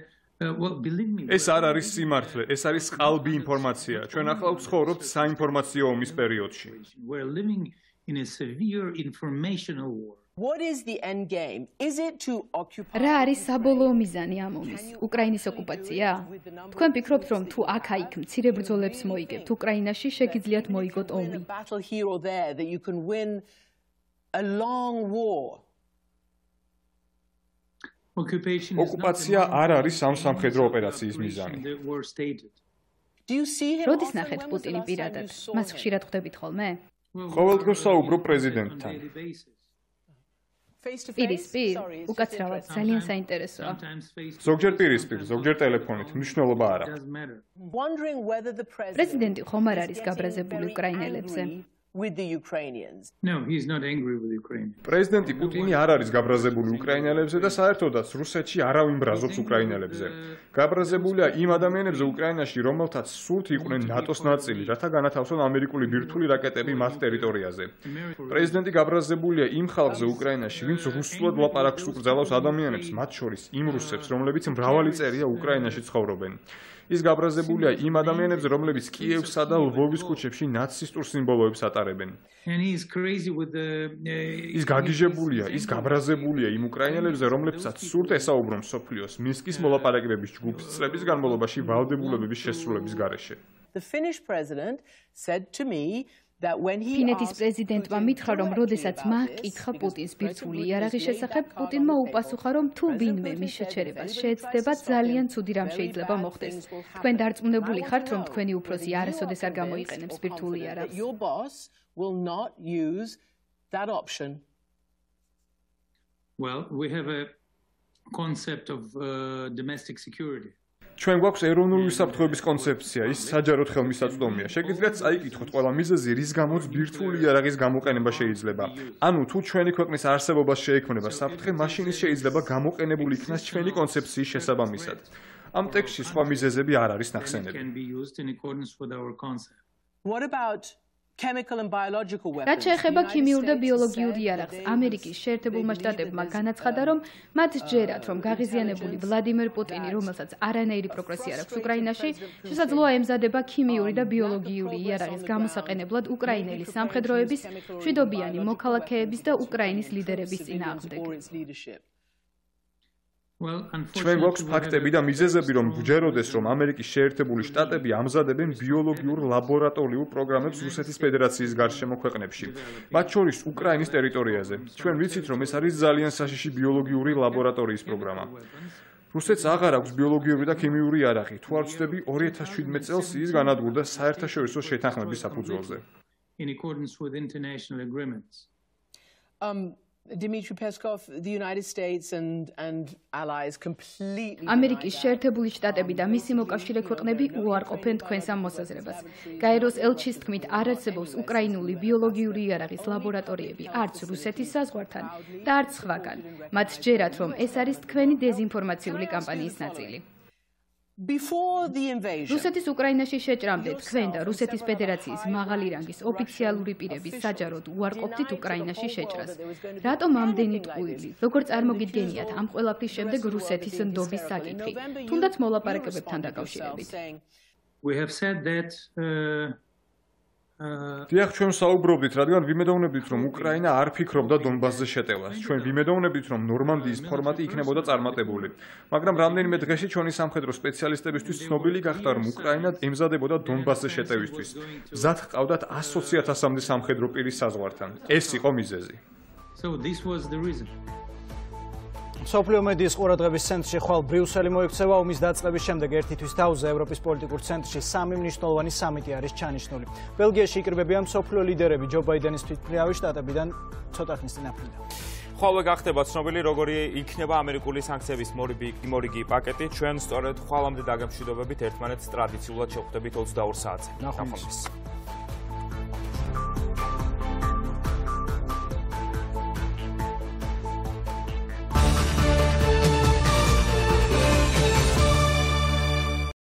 uh, well believe me. ეს არ არის სიმართლე, ეს არის ყალბი ინფორმაცია. ჩვენ ახლა ვცხოვრობთ საინფორმაციო ომის პერიოდში. We're living in a severe informational war. What is the end game? Is it to occupy რა არის საბოლოო მიზანი ამ ომის? უკრაინის ოკუპაცია? თქვენ ფიქრობთ, რომ თუ აქ-აიქ მცირე ბრძოლებს მოიგებთ, უკრაინაში შეგიძლიათ მოიგოთ ომი? Battle here or there that you can win a long war. ოკუპაცია არ არის ამ სამხედრო ოპერაციის მიზანი. Do you see him? როდის ნახეთ პუტინი პირადად? მას ხშირად ხვდებით ხოლმე? ყოველდღიურ საუბრობ პრეზიდენტთან. პირისპირ, უკაცრავად, ძალიან საინტერესოა. ზოგჯერ პირისპირ, ზოგჯერ ტელეფონით, მნიშვნელობა არ აქვს. Wondering whether the president პრეზიდენტი ხომ არ არის გაბრაზებული უკრაინელებზე? with the Ukrainians. No, he is not angry with Ukraine. პრეზიდენტი პუტინი არ არის გაბრაზებული უკრაინელებზე და საერთოდაც რუსეთში არავინ ბრაზობს უკრაინელებზე. გაბრაზებულია იმ ადამიანებზე უკრაინაში, რომელთაც სულთ იყვნენ ნატოს ნაწილი, რათა განათავსონ ამერიკული ბირთვული რაკეტები მათ ტერიტორიაზე. პრეზიდენტი გაბრაზებულია იმ ხალხზე უკრაინაში, ვინც რუსულად ლაპარაკს უკრძალავს ადამიანებს, მათ შორის იმ რუსებს, რომლებიც მრავალი წერია უკრაინაში ცხოვრობენ. ის გაბრაზებულია იმ ადამიანებზე, რომლებიც კიევსა და ლვოვის ქუჩებში ნაცისტურ სიმბოლოებს ატარებენ. ის გაგიჟებულია, ის გაბრაზებულია იმ უკრაინელებზე, რომლებსაც სურთ ესაუბრონ მსოფლიოს მინსკის მოლაპარაკებების ჯგუფის წლების განმავლობაში ვალდებულებების შესრულების გარეშე. The Finnish president said to me ფინეთის პრეზიდენტმა მითხრა, რომ როდესაც მან კითხა პუტინს ბირთვული იარაღის შესახებ, პუტინმა უპასუხა, რომ თუ ვინმე მის შეჩერებას შეეცდება, ძალიან ცუდი რამ შეიძლება მოხდეს. თქვენ დარწმუნებული ხართ, რომ თქვენი უფროსი არასოდეს არ გამოიყენებს ბირთვული იარაღს? Well, we have a concept of uh, domestic security. ჩვენ გვაქვს ეროვნული უსაფრთხოების კონცეფცია, ის საჯაროდ ხელმისაწვდომია. შეგიძლიათ წაიკითხოთ ყველა მიზეზი, რის გამოც ბირთვული იარაღის გამოყენება შეიძლება. ანუ თუ ჩვენი ქვეყნის არსებობას შეექმნება საფრთხე, მაშინ ის შეიძლება გამოყენებული იქნას ჩვენი კონცეფციის შესაბამისად. ამ ტექსტში სხვა მიზეზები არ არის ნახსენები. What about chemical and biological weapons? რაც შეეხება ქიმიურ და ბიოლოგიურ იარაღს, ამერიკის შეერთებულმა შტატებმა განაცხადა, რომ მათ ჯერათ, რომ გაღიზიანებული ვლადიმერ პუტინი, რომელსაც არანაირი პროგრესი არ აქვს უკრაინაში, შესაძლოა ემზადება ქიმიური და ბიოლოგიური იარაღის გამოსაყენებლად უკრაინელი სამხედროების, მშვიდობიანი მოქალაქეების და უკრაინის ლიდერების წინააღმდეგ. ჩვენ გვაქვს ფაქტები და მიზეზები, რომ გჯეროდეს, რომ ამერიკის შეერთებული შტატები ამზადებენ ბიოლოგიურ ლაბორატორიულ პროგრამებს რუსეთის ფედერაციის გარშემო ქვეყნებში, მათ შორის უკრაინის ტერიტორიაზე. ჩვენ ვიცით, რომ ეს არის ძალიან საშიში ბიოლოგიური ლაბორატორიის პროგრამა. რუსეთს აღარ აქვს ბიოლოგიური და ქიმიური იარაღი. თუ არ ვცდები, ორი ათას შვიდმეტ წელს ის განადგურდა საერთაშორისო შეთანხმების საფუძველზე. In accordance with international agreements. Um Dmitry Peskov, the United States and and allies completely ამერიკის შეერთებული შტატები და მისი მოკავშირე ქვეყნები უარყოფენ თქვენს ამ მოსაზრებას. გაეროს ელჩის თქმით, არ არსებობს უკრაინული ბიოლოგიური იარაღის ლაბორატორიები არც რუსეთის საზღვართან და არც სხვაგან. მათ ჯერათ, რომ ეს არის თქვენი დეზინფორმაციული კამპანიის ნაწილი. Before the invasion, რუსეთის უკრაინაში შეჭრამდე თქვენ და რუსეთის ფედერაციის მაღალი რანგის ოფიციალური პირები საჯაროდ უარყოფდით უკრაინაში შეჭრას. რატომ ამდენი ტყუილი? როგორ წარმოგიდგენიათ ამ ყველაფრის შემდეგ რუსეთის ნდობის საკითხი, თუნდაც მოლაპარაკებებთან დაკავშირებით? We have said that uh, დიახ, ჩვენ საუბრობდით, რადგან ვიმედოვნებდით, რომ უკრაინა არ ფიქრობდა დონბასზე შეტევას. ჩვენ ვიმედოვნებდით, რომ ნორმანდიის ფორმატი იქნებოდა წარმატებული. მაგრამ რამდენიმე დღეში ჩვენი სამხედრო სპეციალისტებისთვის ცნობილი გახდა, რომ უკრაინა ემზადებოდა დონბასზე შეტევისთვის. მზად ჰყავდათ ასოცი ათასამდე სამხედრო პირის საზღვართან. ეს იყო მიზეზი. So this was the reason. სოფლიო მედიის ყურადღების ცენტრში ხვალ ბრიუსელი მოექცევა ომის დაწყების შემდეგ ერთი თვის თავზე ევროპის პოლიტიკურ ცენტრში სამი მნიშვნელოვანი სამიტი არის ჩანიშნული. ბელგიაში იკრიბებიან სოფლიო ლიდერები ჯო ბაიდენის თვითმფრინავი შტატებიდან ცოტა ხნის წინ აფრინდა. ხვალვე გახდება ცნობილი, როგორი იქნება ამერიკული სანქციების მორიგი პაკეტი. ჩვენ სწორედ ხვალამდე დაგემშვიდობებით ერთმანეთს ტრადიციულად შევხვდებით ოცდაორ საათზე. ნახვამდის.